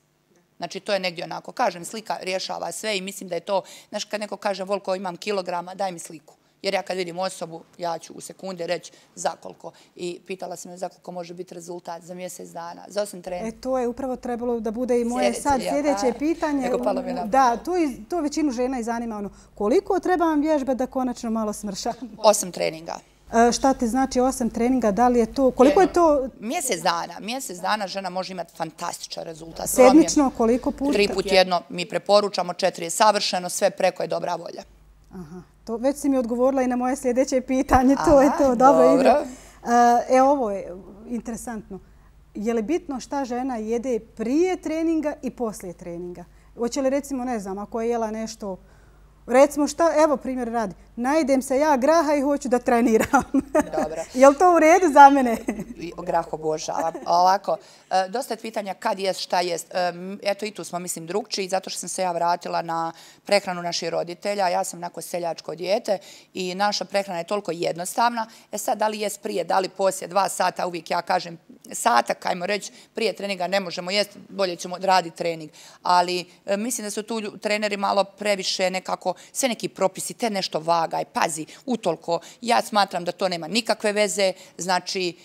Znači, to je negdje onako. Kažem, slika rješava sve i mislim da je to, znaš, kad neko kaže, Volko, imam kilograma, daj mi sliku. Jer ja kad vidim osobu, ja ću u sekunde reći za koliko. I pitala sam me za koliko može biti rezultat za mjesec dana, za 8 treninga. To je upravo trebalo da bude i moje sad sljedeće pitanje. Da, to većinu žena i zanima koliko treba vam vježbe da konačno malo smrša? 8 treninga. Šta ti znači 8 treninga? Da li je to, koliko je to? Mjesec dana žena može imati fantastičan rezultat. Sedmično, koliko puta? 3 put jedno mi preporučamo, 4 je savršeno, sve preko je dobra volja. Aha, već si mi odgovorila i na moje sljedeće pitanje, to je to. Dobro. Ovo je interesantno. Je li bitno šta žena jede prije treninga i poslije treninga? Hoće li recimo, ne znam, ako je jela nešto, recimo šta, evo primjer radi, najdem se ja graha i hoću da treniram. Dobro. Je li to u redu za mene? Grah obožavam. Ovako, dosta je pitanja kad jest, šta jest. Eto i tu smo, mislim, drugčiji, zato što sam se ja vratila na prehranu naših roditelja. Ja sam onako seljačko dijete i naša prehrana je toliko jednostavna. Sad, da li jest prije, da li poslije 2 sata, uvijek ja kažem sata, kajmo reći, prije treninga ne možemo jesti, bolje ćemo raditi trening. Ali mislim da su tu treneri malo previše nekako, sve neki propisi, te nešto vagaj, pazi, utoliko. Ja smatram da to nema nikakve veze, znači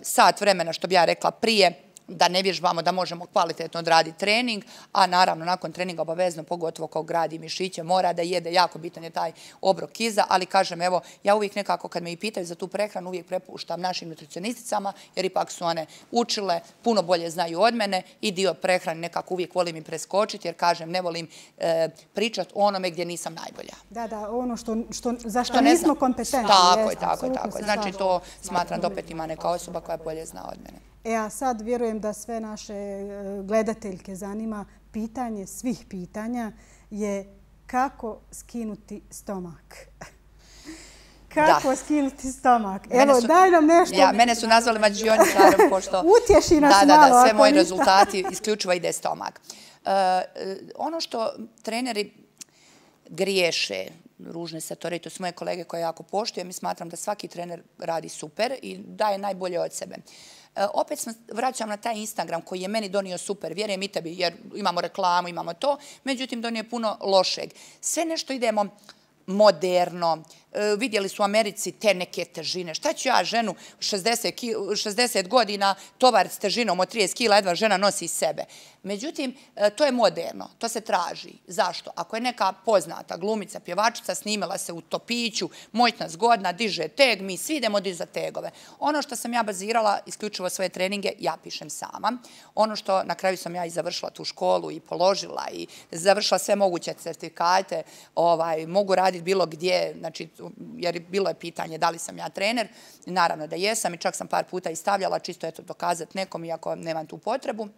sat vremena, što bi ja rekla prije, da ne vježbamo da možemo kvalitetno odraditi trening, a naravno nakon treninga obavezno, pogotovo kao gradi mišiće, mora da jede, jako bitan je taj obrok iza, ali kažem, evo, ja uvijek nekako kad me i pitaju za tu prehranu, uvijek prepuštam našim nutricionisticama, jer ipak su one učile, puno bolje znaju od mene i dio prehrane nekako uvijek volim im preskočiti, jer kažem, ne volim pričati o onome gdje nisam najbolja. Da, ono za što nismo kompetentni. Tako je. Znači, to smatram da opet ima neka osoba koja bolje zna od mene. A sad vjerujem da sve naše gledateljke zanima, pitanje svih pitanja je kako skinuti stomak. Kako skinuti stomak? Evo, daj nam nešto. Mene su nazvali mađioničarom, pošto... Utješi nas malo. Da, sve moji rezultati isključivo ide stomak. Ono što treneri griješe, ružne se to reći, to su moje kolege koje jako poštujem i smatram da svaki trener radi super i daje najbolje od sebe. Opet vraćam na taj Instagram koji je meni donio super, vjerujem i tebi, jer imamo reklamu, imamo to, međutim donio je puno lošeg. Sve nešto idemo moderno, vidjeli su u Americi te neke težine. Šta ću ja ženu 60 godina tovar s težinom od 30 kila, jedva žena nosi iz sebe. Međutim, to je moderno, to se traži. Zašto? Ako je neka poznata glumica, pjevačica, snimala se u topiću, moćna, zgodna, diže teg, mi svi idemo dizati tegove. Ono što sam ja bazirala, isključivo svoje treninge, ja pišem sama. Ono što na kraju sam ja i završila tu školu i položila i završila sve moguće certifikate, mogu raditi bilo gdje, znači, jer bilo je pitanje da li sam ja trener. Naravno da jesam i čak sam par puta i stavljala, čisto eto dokazati nekom, iako nemam tu potrebu.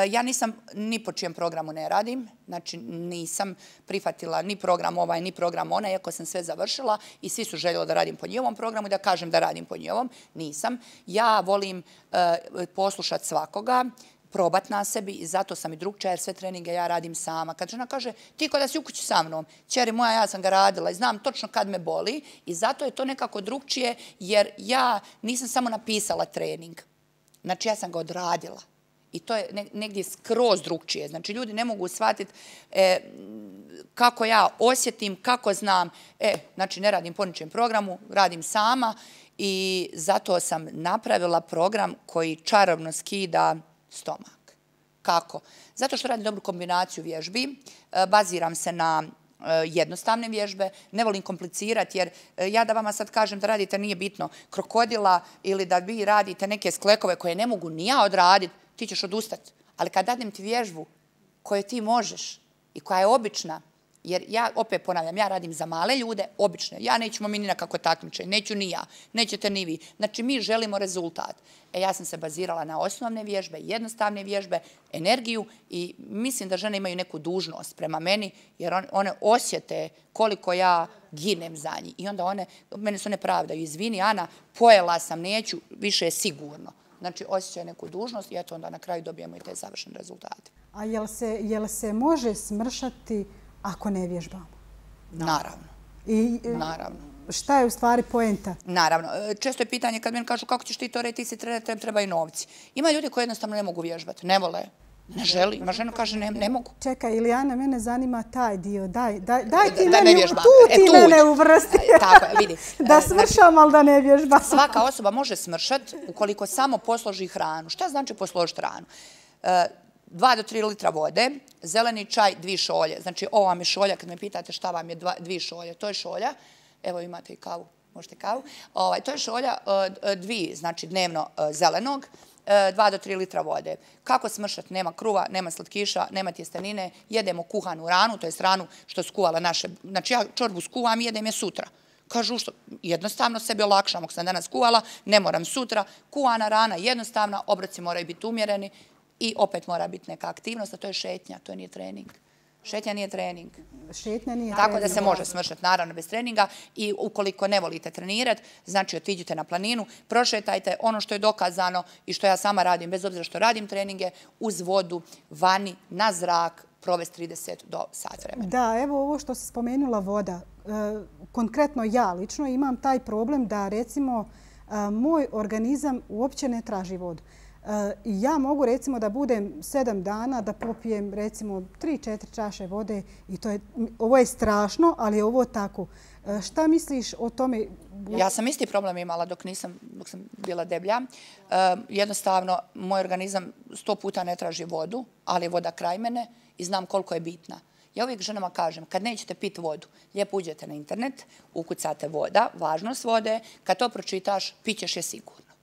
Ja nisam ni po čijem programu ne radim, znači nisam prihvatila ni program ovaj, ni program onaj, iako sam sve završila i svi su željeli da radim po njihovom programu i da kažem da radim po njihovom. Nisam. Ja volim poslušati svakoga, probat na sebi i zato sam i drugčija jer sve treninge ja radim sama. Kad žena kaže ti ko da si u kući sa mnom, ćeri moja, ja sam ga radila i znam točno kad me boli i zato je to nekako drugčije jer ja nisam samo napisala trening. Znači ja sam ga odradila. I to je negdje skroz drugčije. Znači, ljudi ne mogu shvatiti kako ja osjetim, kako znam. Znači, ne radim po ničem programu, radim sama i zato sam napravila program koji čarobno skida stomak. Kako? Zato što radim dobru kombinaciju vježbi, baziram se na jednostavne vježbe, ne volim komplicirati jer ja da vama sad kažem da radite nije bitno krokodila ili da vi radite neke sklekove koje ne mogu ni ja odraditi, ti ćeš odustati. Ali kad dadim ti vježbu koju ti možeš i koja je obična, jer ja opet ponavljam, ja radim za male ljude, obične. Ja nećemo mi ni na kako takmičenje, neću ni ja, nećete ni vi. Znači mi želimo rezultat. Ja sam se bazirala na osnovne vježbe, jednostavne vježbe, energiju i mislim da žene imaju neku dužnost prema meni jer one osjete koliko ja ginem za njih. I onda mene se one pravdaju, izvini Ana, pojela sam, neću, više je sigurno. Znači, osjećaju neku dužnost i eto onda na kraju dobijemo i te završene rezultate. A jel se može smršati ako ne vježbamo? Naravno. Naravno. Šta je u stvari poenta? Naravno. Često je pitanje kad meni kažu kako ćeš ti to reći, ti si trener, trebaju novci. Ima ljudi koji jednostavno ne mogu vježbati, ne vole, ne želi. Ima žena kaže ne mogu. Čekaj, Ilijana, mene zanima taj dio. Daj ti mene uvrsti. Tako je, vidi. Da smršam, ali da ne vježbam. Svaka osoba može smršati ukoliko samo posloži hranu. Šta znači posložiti hranu? 2 do 3 litra vode, zeleni čaj, 2 šolje. Znači, ovo vam je šolja, kad me pitate šta vam je 2 šolje, to je šolja. Evo imate i kavu, možete kavu. To je šolja 2, znači dnevno zelenog, 2 do 3 litra vode. Kako smršati? Nema kruva, nema slatkiša, nema tjestenine, jedemo kuhanu ranu, to je ranu što skuvala naše. Znači, ja čorbu skuvam i jedem je sutra. Kažu što jednostavno sebi olakšam, ako sam danas kuvala, ne moram sutra. Kuhana rana jednostavna, obroci moraju biti umjereni. I opet mora biti neka aktivnost, a to je šetnja, to nije trening. Šetnja nije trening. Tako da se može smršati, naravno, bez treninga i ukoliko ne volite trenirati, znači otiđite na planinu, prošetajte ono što je dokazano i što ja sama radim, bez obzira što radim treninge, uz vodu, vani, na zrak, provesti 30 do sat vremena. Da, evo ovo što si spomenula voda. Konkretno ja lično imam taj problem da recimo moj organizam uopće ne traži vodu. I ja mogu recimo da budem 7 dana da popijem recimo 3-4 čaše vode i ovo je strašno, ali je ovo tako. Šta misliš o tome? Ja sam isti problem imala dok sam bila deblja. Jednostavno, moj organizam 100 puta ne traži vodu, ali je voda kraj mene i znam koliko je bitna. Ja uvijek ženama kažem, kad nećete piti vodu, lijepo uđete na internet, ukucate voda, važnost vode, kad to pročitaš, pićeš je sigurno.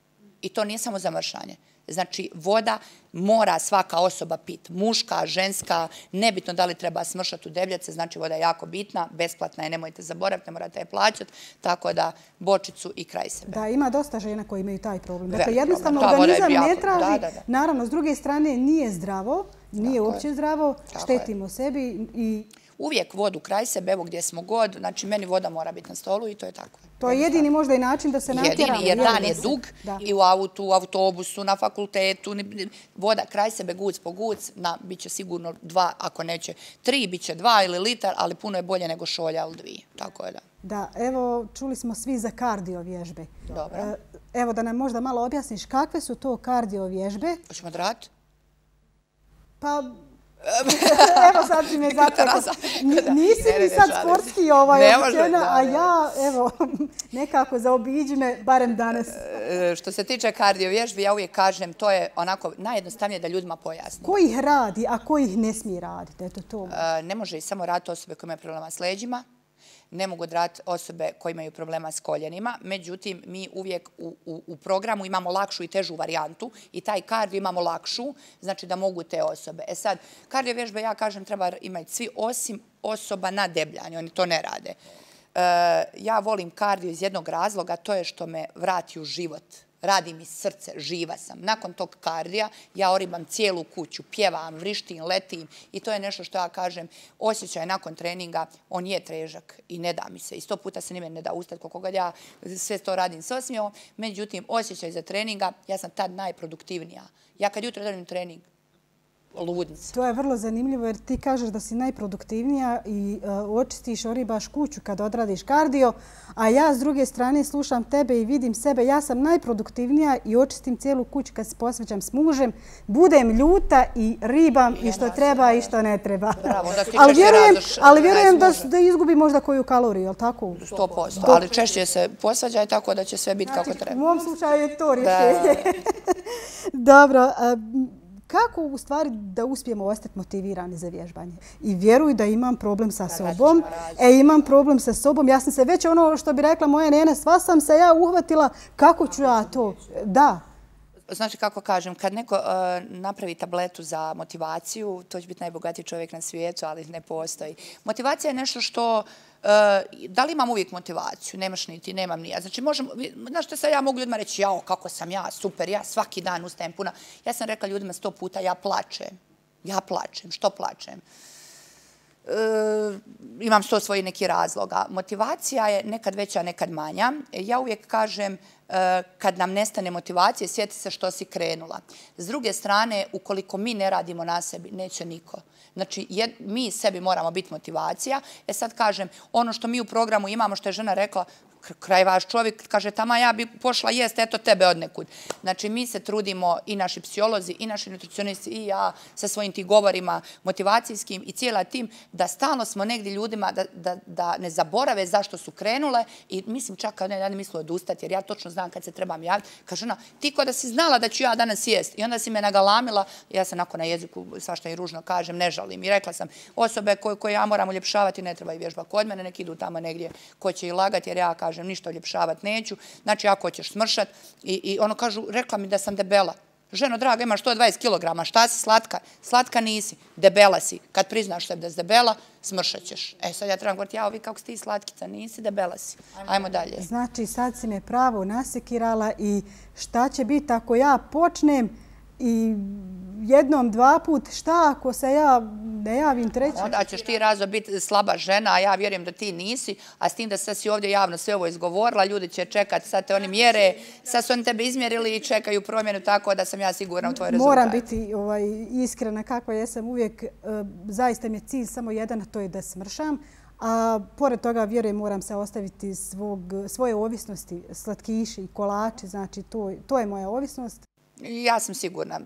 I to nije samo za mršanje. Znači, voda mora svaka osoba piti. Muška, ženska, nebitno da li treba smršati u debljace, znači voda je jako bitna, besplatna je, nemojte zaboraviti, ne morate je plaćati, tako da bočicu i kraj sebe. Da, ima dosta žena koji imaju taj problem. Dakle, jednostavno organizam ne traži. Naravno, s druge strane, nije zdravo, nije uopće zdravo, štetimo sebi i... Uvijek vodu kraj sebe, evo gdje smo god, znači meni voda mora biti na stolu i to je tako. To je jedini možda i način da se natjeramo. Jedini, jer dan je dug i u autu, u autobusu, na fakultetu, voda kraj sebe, guc po guc, bit će sigurno 2, ako neće 3, bit će 2 ili litar, ali puno je bolje nego šolja ili 2. Tako je da. Da, evo, čuli smo svi za kardio vježbe. Dobro. Evo da nam možda malo objasniš kakve su to kardio vježbe. Hoćemo da raditi? Pa... Evo sad si me zatekla. Nisi mi sad sportski obučena, a ja, evo, nekako zaobiđi me, barem danas. Što se tiče kardio vježbi, ja uvijek kažem, to je onako najjednostavnije da ljudima pojasnim. Ko ih radi, a ko ih ne smije raditi? Eto to. Ne može ih samo raditi osobe koje imaju problema s leđima, ne mogu raditi osobe koje imaju problema s koljenima. Međutim, mi uvijek u programu imamo lakšu i težu varijantu i taj kardio imamo lakšu, znači da mogu te osobe. Sad, kardio vježbe, ja kažem, treba imati svi osim osoba na debljanju, oni to ne rade. Ja volim kardio iz jednog razloga, to je što me vrati u život. Radi mi srce, živa sam. Nakon tog kardija ja oribam cijelu kuću, pjevam, vrištim, letim i to je nešto što ja kažem, osjećaj nakon treninga, on je težak i ne da mi se. I 100 puta se nime ne da ustati koliko god ja sve to radim s osmijom. Međutim, osjećaj za treninga, ja sam tad najproduktivnija. Ja kad jutro radim trening, ludnica. To je vrlo zanimljivo jer ti kažeš da si najproduktivnija i očistiš, oribaš kuću kad odradiš kardio, a ja s druge strane slušam tebe i vidim sebe. Ja sam najproduktivnija i očistim cijelu kuću kad se posvećam s mužem. Budem ljuta i ribam i što treba i što ne treba. Bravo, da ti ali vjerujem da izgubi možda koju kaloriju, jel tako? 100%, ali češće se posvađaj tako da će sve biti kako treba. U mom slučaju je to rješenje. Dobro. Kako u stvari da uspijemo ostati motivirani za vježbanje? I vjeruj da imam problem sa sobom. Imam problem sa sobom. Ja sam se već ono što bi rekla moja nena, sva sam se ja uhvatila kako ću ja to. Da. Znači, kako kažem, kad neko napravi tabletu za motivaciju, to će biti najbogatiji čovjek na svijetu, ali ne postoji. Motivacija je nešto što da li imam uvijek motivaciju? Nemaš niti, nemam ni ja. Znači, znaš što sad ja mogu ljudima reći, jao, kako sam ja, super, ja svaki dan ustajem puna. Ja sam rekla ljudima 100 puta, ja plačem. Ja plačem. Što plačem? Imam sto svoji neki razloga. Motivacija je nekad veća, nekad manja. Ja uvijek kažem, kad nam nestane motivacije, sjeti se što si krenula. S druge strane, ukoliko mi ne radimo na sebi, neće niko. Znači, mi sebi moramo biti motivacija. Sad kažem, ono što mi u programu imamo, što je žena rekla, kraj vaš čovjek, kaže, tama ja bi pošla jest, eto tebe odnekud. Znači, mi se trudimo i naši psiholozi, i naši nutricionisti, i ja sa svojim ti govorima motivacijskim i cijela tim, da stalno smo negdje ljudima da ne zaborave zašto su krenule i mislim čak kad ne misle odustati, jer ja točno znam kad se trebam javiti. Kaže ona, ti ko da si znala da ću ja danas jest i onda si me nagalamila, ja sam onako na jeziku, svašta i ružno kažem, ne žalim. I rekla sam, osobe koje ja moram uljepšavati ne treba i vježba kod mene, nek idu tamo negdje ko će i lagati, jer ja kažem ništa uljepšavati neću. Znači, ako hoćeš smršat i ono kažu, rekla mi da sam debela. Ženo draga, imaš 120 kilograma, šta si slatka? Slatka nisi, debela si. Kad priznaš sebi da si debela, smršat ćeš. Sad ja trebam govoriti, vi kako si ti slatkica, nisi, debela si. Ajmo dalje. Znači, sad si me pravo nasekirala i šta će biti ako ja počnem i jednom, dva put, šta ako se ja ne javim treći? Onda ćeš ti razno biti slaba žena, a ja vjerujem da ti nisi, a s tim da sad si ovdje javno sve ovo izgovorila, ljudi će čekati, sad te oni mjere, sad su oni tebe izmjerili i čekaju promjenu, tako da sam ja sigurna u tvoj rezultat. Moram biti iskrena kakva jesam uvijek, zaista mi je cilj samo jedan, a to je da smršam. A pored toga, vjerujem, moram se ostaviti svoje ovisnosti, slatkiši i kolači, znači to je moja ovisnost. Ja sam sigurna.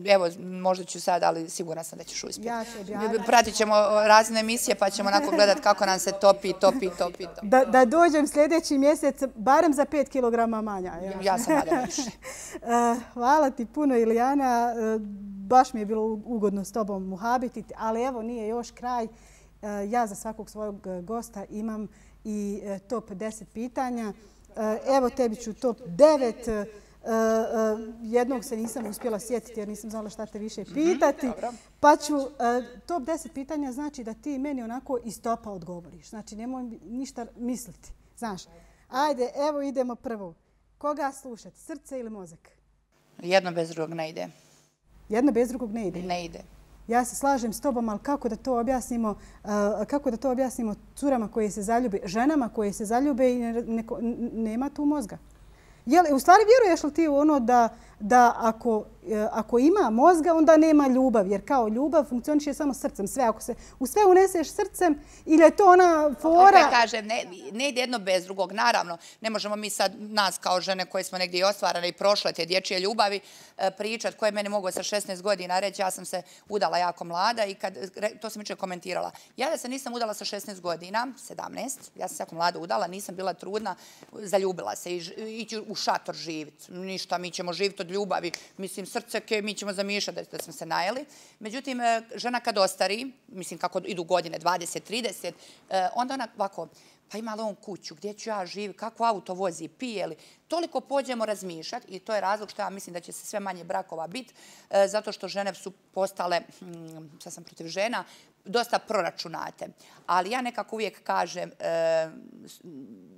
Evo, možda ću sad, ali sigurna sam da ćeš uspjeti. Ja ću objaviti. Pratit ćemo razne emisije pa ćemo onako gledati kako nam se topi. Da dođem sljedeći mjesec barem za 5 kilograma manja. Ja sam nadam više. Hvala ti puno, Ilijana. Baš mi je bilo ugodno s tobom muhabititi, ali evo nije još kraj. Ja za svakog svojeg gosta imam i top 10 pitanja. Evo tebi ću top 9. Jednog se nisam uspjela sjetiti jer nisam znala šta te više pitati. Pa ću, top 10 pitanja znači da ti meni onako iz topa odgovoriš. Znači nemoj ništa misliti. Znaš, ajde, evo idemo prvo. Koga slušati, srce ili mozak? Jedno bez drugog ne ide. Jedno bez drugog ne ide? Ne ide. Ja se slažem s tobom, ali kako da to objasnimo curama koje se zaljube, ženama koje se zaljube i nema tu mozga? U stvari vjeruješ li ti u ono da ako ima mozga, onda nema ljubav? Jer kao ljubav funkcioniše samo srcem. Ako se u sve uneseš srcem ili je to ona fora... Opet kažem, ne ide jedno bez drugog. Naravno, ne možemo mi sad nas kao žene koje smo negdje i ostvarane i prošle te dječje ljubavi pričati koje mene mogu sa 16 godina reći. Ja sam se udala jako mlada i to sam jučer komentirala. Ja da se nisam udala sa 16 godina, 17, ja sam se jako mlada udala, nisam bila trudna, zaljubila se i ići u šator živjeti. Ništa, mi ćemo živjeti od ljubavi. Mislim, srce, mi ćemo zamišljati da smo se najeli. Međutim, žena kad ostari, mislim kako idu godine, 20, 30, onda ona ovako, pa ima li on kuću, gdje ću ja živjeti, kako auto vozi, pije li. Toliko pođemo razmišljati i to je razlog što ja mislim da će se sve manje brakova biti, zato što žene su postale, sad sam protiv žena, dosta proračunate. Ali ja nekako uvijek kažem,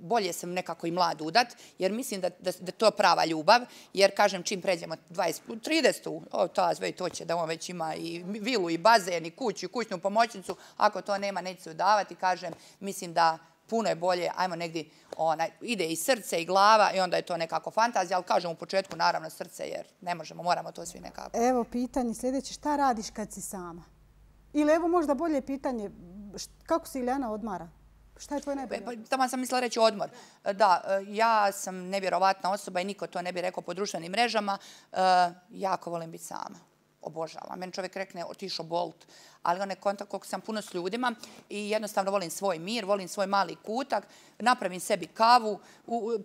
bolje sam nekako i mlad udat, jer mislim da je to prava ljubav, jer kažem čim pređemo 30, to će da on već ima i vilu, i bazen, i kuću, i kućnu pomoćnicu, ako to nema, neće se udavati, kažem, mislim da puno je bolje, ajmo negdje, ide i srce i glava i onda je to nekako fantazija, ali kažem u početku naravno srce jer ne možemo, moramo to svi nekako. Evo pitanje sljedeće, šta radiš kad si sama? Ili evo možda bolje pitanje, kako se Ilijana odmara? Šta je tvoj najbolji odmor? Tamo sam mislila reći odmor. Da, ja sam nevjerovatna osoba i niko to ne bi rekao po društvenim mrežama. Jako volim biti sama. Obožavam. Meni čovjek rekne otišao Bolt, ali onaj kontakt koliko sam puno s ljudima i jednostavno volim svoj mir, volim svoj mali kutak, napravim sebi kavu,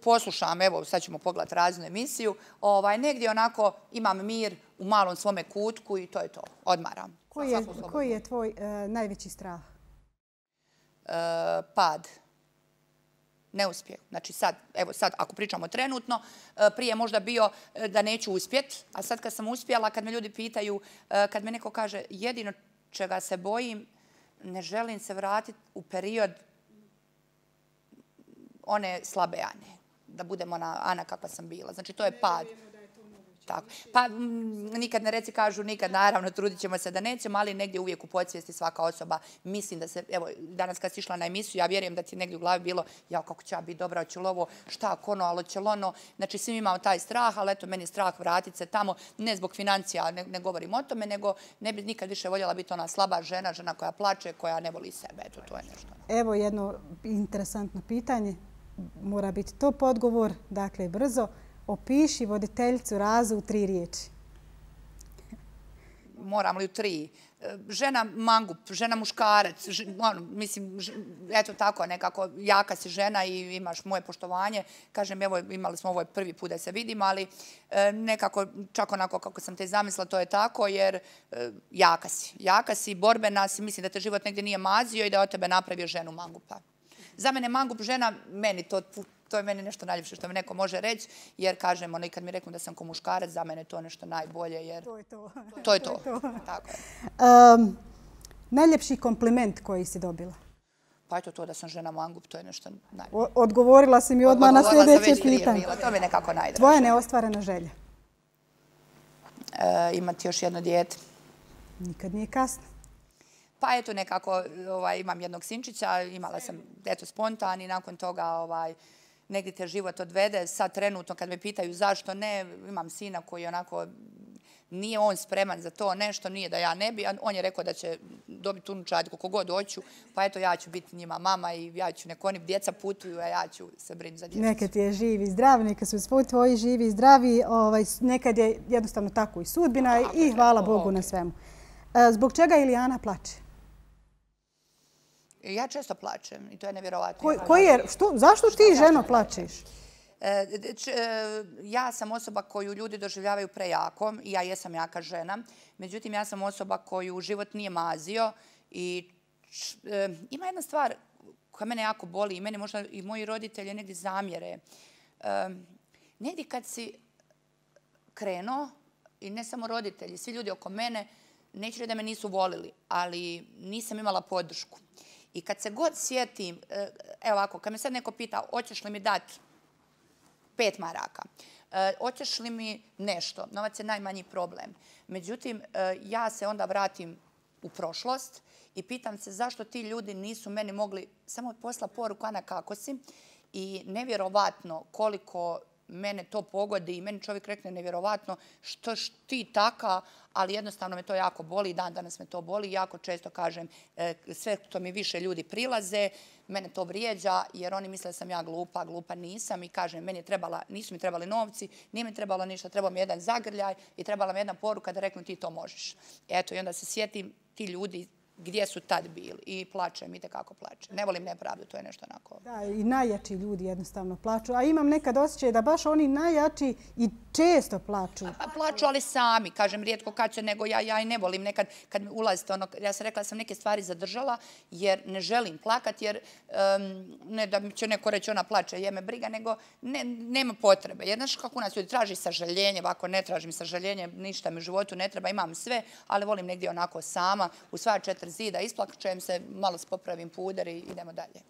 poslušam, evo sad ćemo pogledati raznu emisiju, negdje onako imam mir u malom svome kutku i to je to. Odmaram. Koji je tvoj najveći strah? Pad. Neuspjeh. Znači sad, evo sad, ako pričamo trenutno, prije možda bio da neću uspjet, a sad kad sam uspjela, kad me ljudi pitaju, kad me neko kaže jedino čega se bojim, ne želim se vratiti u period one slabe Ane. Da budem ona Ana kakva sam bila. Znači to je pad. Tako. Pa nikad ne reci, kažu nikad, naravno trudit ćemo se da nećemo, ali negdje uvijek u podsvijesti svaka osoba mislim da se, evo danas kad si išla na emisiju, ja vjerujem da ti negdje u glavi bilo ja kako će ja biti dobra, hoće li ovo, šta, kono, ali će li ono, znači svi imamo taj strah, ali eto meni je strah vratiti se tamo, ne zbog financija, ne govorim o tome, nego ne bi nikad više voljela biti ona slaba žena, žena koja plače, koja ne voli sebe, eto to je nešto. Evo jedno interesantno pitanje, mora biti top odgovor, dakle brzo. Opiši voditeljicu Razu u 3 riječi. Moram li u 3? Žena mangup, žena muškarac, mislim, eto tako nekako, jaka si žena i imaš moje poštovanje. Kažem, evo, imali smo ovo prvi put da se vidimo, ali nekako, čak onako kako sam te zamislila, to je tako, jer jaka si. Jaka si, borbena si, mislim da te život negdje nije mazio i da od tebe napravio ženu mangupa. Za mene mangup žena, meni to je meni nešto najljepše što mi neko može reći, jer kažem, ono i kad mi reknu da sam ko muškarac, za mene je to nešto najbolje, jer... To je to. To je to. Tako je. Najljepši kompliment koji si dobila? Pa eto to da sam žena mangup, to je nešto najbolje. Odgovorila si mi odmah na sljedeće pitanje. To mi je nekako najdraže. Tvoja neostvarena želja? Imati još jedno dijete. Nikad nije kasno. Pa eto nekako imam jednog sinčića, imala sam eto spontan i nakon toga negdje te život odvede. Sad trenutno kad me pitaju zašto ne, imam sina koji onako nije on spreman za to nešto, nije da ja ne bi. On je rekao da će dobiti unučad koliko god hoću, pa eto ja ću biti njima mama i ja ću neko oni djeca putuju, a ja ću se brinuti za djecu. Nekad je živi i zdrav, neka su svi tvoji živi i zdravi, nekad je jednostavno tako i sudbina i hvala Bogu na svemu. Zbog čega Ilijana plače? Ja često plačem i to je nevjerovatno. Zašto ti ženo plačeš? Ja sam osoba koju ljudi doživljavaju prejakom i ja jesam jaka žena. Međutim, ja sam osoba koju život nije mazio i ima jedna stvar koja mene jako boli i mene možda i moji roditelji negdje zamjere. Negdje kad si krenuo i ne samo roditelji, svi ljudi oko mene, neću reći da me nisu volili, ali nisam imala podršku. I kad se god sjetim, evo ovako, kad me sad neko pita hoćeš li mi dati 5 maraka, hoćeš li mi nešto, novac je najmanji problem. Međutim, ja se onda vratim u prošlost i pitam se zašto ti ljudi nisu meni mogli samo poslati poruku Ana kako si i nevjerovatno koliko mene to pogodi i meni čovjek rekne nevjerovatno što ti taka, ali jednostavno me to jako boli i dan danas me to boli. Jako često kažem sve što mi više ljudi prilaze, mene to vrijeđa jer oni misle da sam ja glupa, glupa nisam i kažem nisu mi trebali novci, nije mi trebalo ništa, trebao mi jedan zagrljaj i trebala mi jedna poruka da reknu ti to možeš. Eto i onda se sjetim ti ljudi gdje su tad bili i plačem, itekako plačem. Ne volim nepravdu, to je nešto onako. Da, i najjači ljudi jednostavno plaču. A imam nekad osjećaj da baš oni najjači i često plaču. Plaču, ali sami. Kažem, rijetko kad će, nego ja i ne volim nekad kad mi ulazite ono, ja sam rekla da sam neke stvari zadržala jer ne želim plakat, jer ne da će neko reći ona plače, je me briga, nego nema potrebe. Jer znaš kako nas ljudi traži sažaljenje, ovako ne tražim sažaljenje, ništa mi u životu ne treba, imam sve, ali volim negdje onako sama, u sva 4 zida, isplačem se, malo popravim puder i idemo dalje.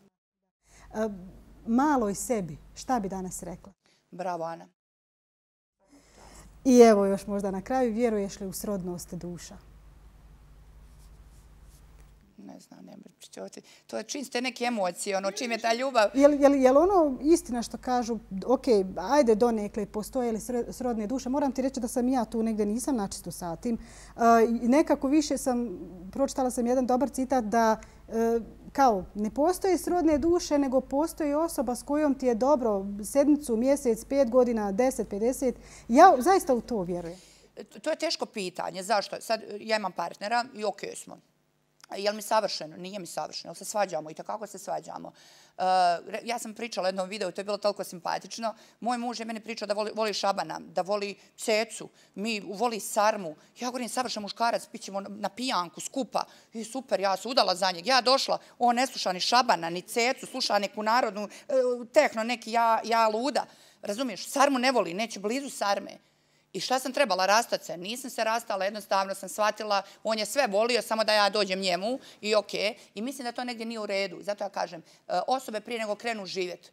Maloj sebi, šta bi danas rekla? Bravo, Ana. I evo još možda na kraju, vjeruješ li u srodnost duša? ne znam, to je čim ste neke emocije, čim je ta ljubav. Je li ono istina što kažu, ok, ajde donekle, postoje li srodne duše? Moram ti reći da sam ja tu negdje nisam načisto sa tim. Nekako više pročitala sam jedan dobar citat da kao ne postoje srodne duše, nego postoji osoba s kojom ti je dobro sedmicu, mjesec, 5 godina, 10, 50. Ja zaista u to vjerujem. To je teško pitanje. Zašto? Sad ja imam partnera i ok smo. Je li mi savršeno? Nije mi savršeno. Jel se svađamo? I tako se svađamo. Ja sam pričala u jednom videu, to je bilo toliko simpatično. Moj muž je meni pričao da voli šabana, da voli cecu, voli sarmu. Ja govorim, savršen muškarac, pićemo na pijanku, skupa. I super, ja se udala za njeg. Ja došla, on ne sluša ni šabana, ni cecu, sluša neku narodnu tehno, neki ja luda. Razumiješ? Sarmu ne voli, neće blizu sarme. I šta sam trebala, rastat se? Nisam se rastala, jednostavno sam shvatila, on je sve volio, samo da ja dođem njemu i okej. I mislim da to negdje nije u redu. Zato ja kažem, osobe prije nego krenu živjeti,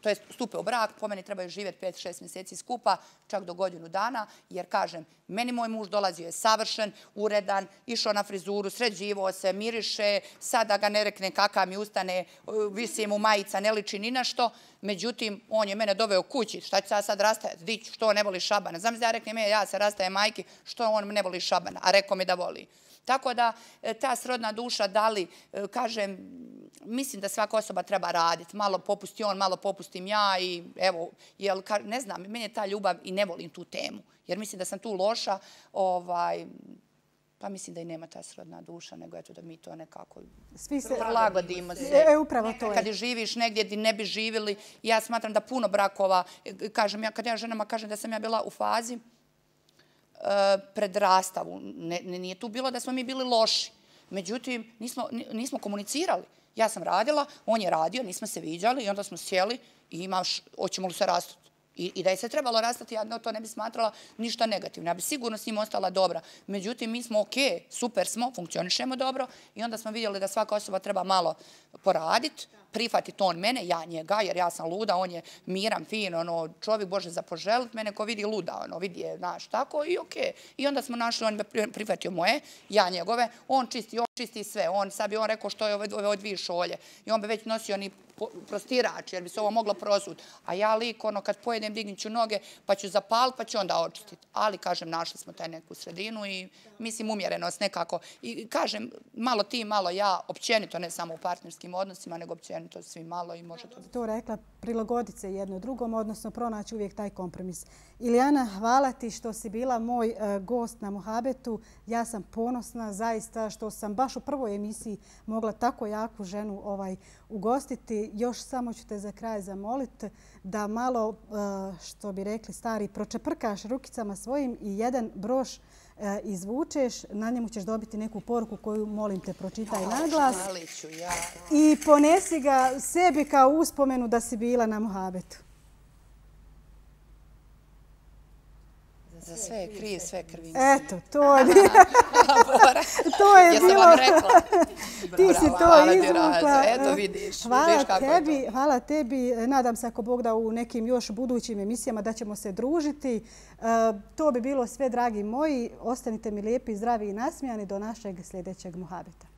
to je stupe u brak, po meni trebaju živjeti 5-6 mjeseci skupa, čak do godinu dana, jer kažem, meni moj muž dolazio je savršen, uredan, išao na frizuru, sređivao se, miriše, sada ga ne rekne kakav mi ustane, visi mu majica, ne liči ni na što. Međutim, on je mene doveo kući, šta ću sad rastajati, dić, što on ne voli šabana. Znam da ja reknem, ja se rastajem majki, što on ne voli šabana, a rekao mi da voli. Tako da ta srodna duša, da li, kažem, mislim da svaka osoba treba raditi. Malo popusti on, malo popustim ja i evo, ne znam, meni je ta ljubav i ne volim tu temu. Jer mislim da sam tu loša, pa mislim da i nema ta srodna duša, nego eto da mi to nekako prilagodimo se. Upravo to je. Kad živiš negdje gdje ne bi živjeli, ja smatram da puno brakova, kažem, kad ja ženama kažem da sam ja bila u fazi pred rastavu. Nije tu bilo da smo mi bili loši. Međutim, nismo komunicirali. Ja sam radila, on je radio, nismo se viđali i onda smo sjeli i hoćemo li se rastati. I da je se trebalo rastati, ja to ne bi smatrala ništa negativno. Ja bi sigurno s njim ostala dobra. Međutim, mi smo ok, super smo, funkcionišemo dobro i onda smo vidjeli da svaka osoba treba malo poraditi, prihvatiti on mene, ja njega, jer ja sam luda, on je miran, fin, čovjek Bože za poželit, mene ko vidi luda, vidi je, znaš, tako i ok. I onda smo našli, on je prihvatio moje, ja njegove, on čisti sve, sad bi on rekao što je ove dvije šolje i on bi već nosio ni prostirač, jer bi se ovo moglo prosuti. A ja lik, kad pojedem, dignit ću noge, pa ću zapaliti, pa ću onda očistiti. Ali, kažem, našli smo taj neku sredinu i mislim umjerenost nekako. I kažem, malo ti, malo ja, općenito, ne samo u partnerskim odnosima, nego općenito svi malo i može to biti. To rekla, prilagoditi se jedno drugom, odnosno pronaći uvijek taj kompromis. Ilijana, hvala ti što si bila moj gost na Muhabetu. Ja sam ponosna zaista što sam baš u prvoj emisiji mogla tako jaku ženu ugostiti. Još samo ću te za kraj zamoliti da malo, što bi rekli stari, pročeprkaš rukicama svojim i jedan broš izvučeš. Na njemu ćeš dobiti neku poruku koju, molim te, pročitaj na glas. I ponesi ga sebi kao uspomenu da si bila na Muhabetu. Za sve krije, sve krvi. Eto, to je bilo. To je bilo. Jesam vam rekla. Ti si to izvukla. Eto vidiš. Hvala tebi. Nadam se ako Bog da u nekim još budućim emisijama da ćemo se družiti. To bi bilo sve, dragi moji. Ostanite mi lijepi, zdravi i nasmijani do našeg sljedećeg Muhabeta.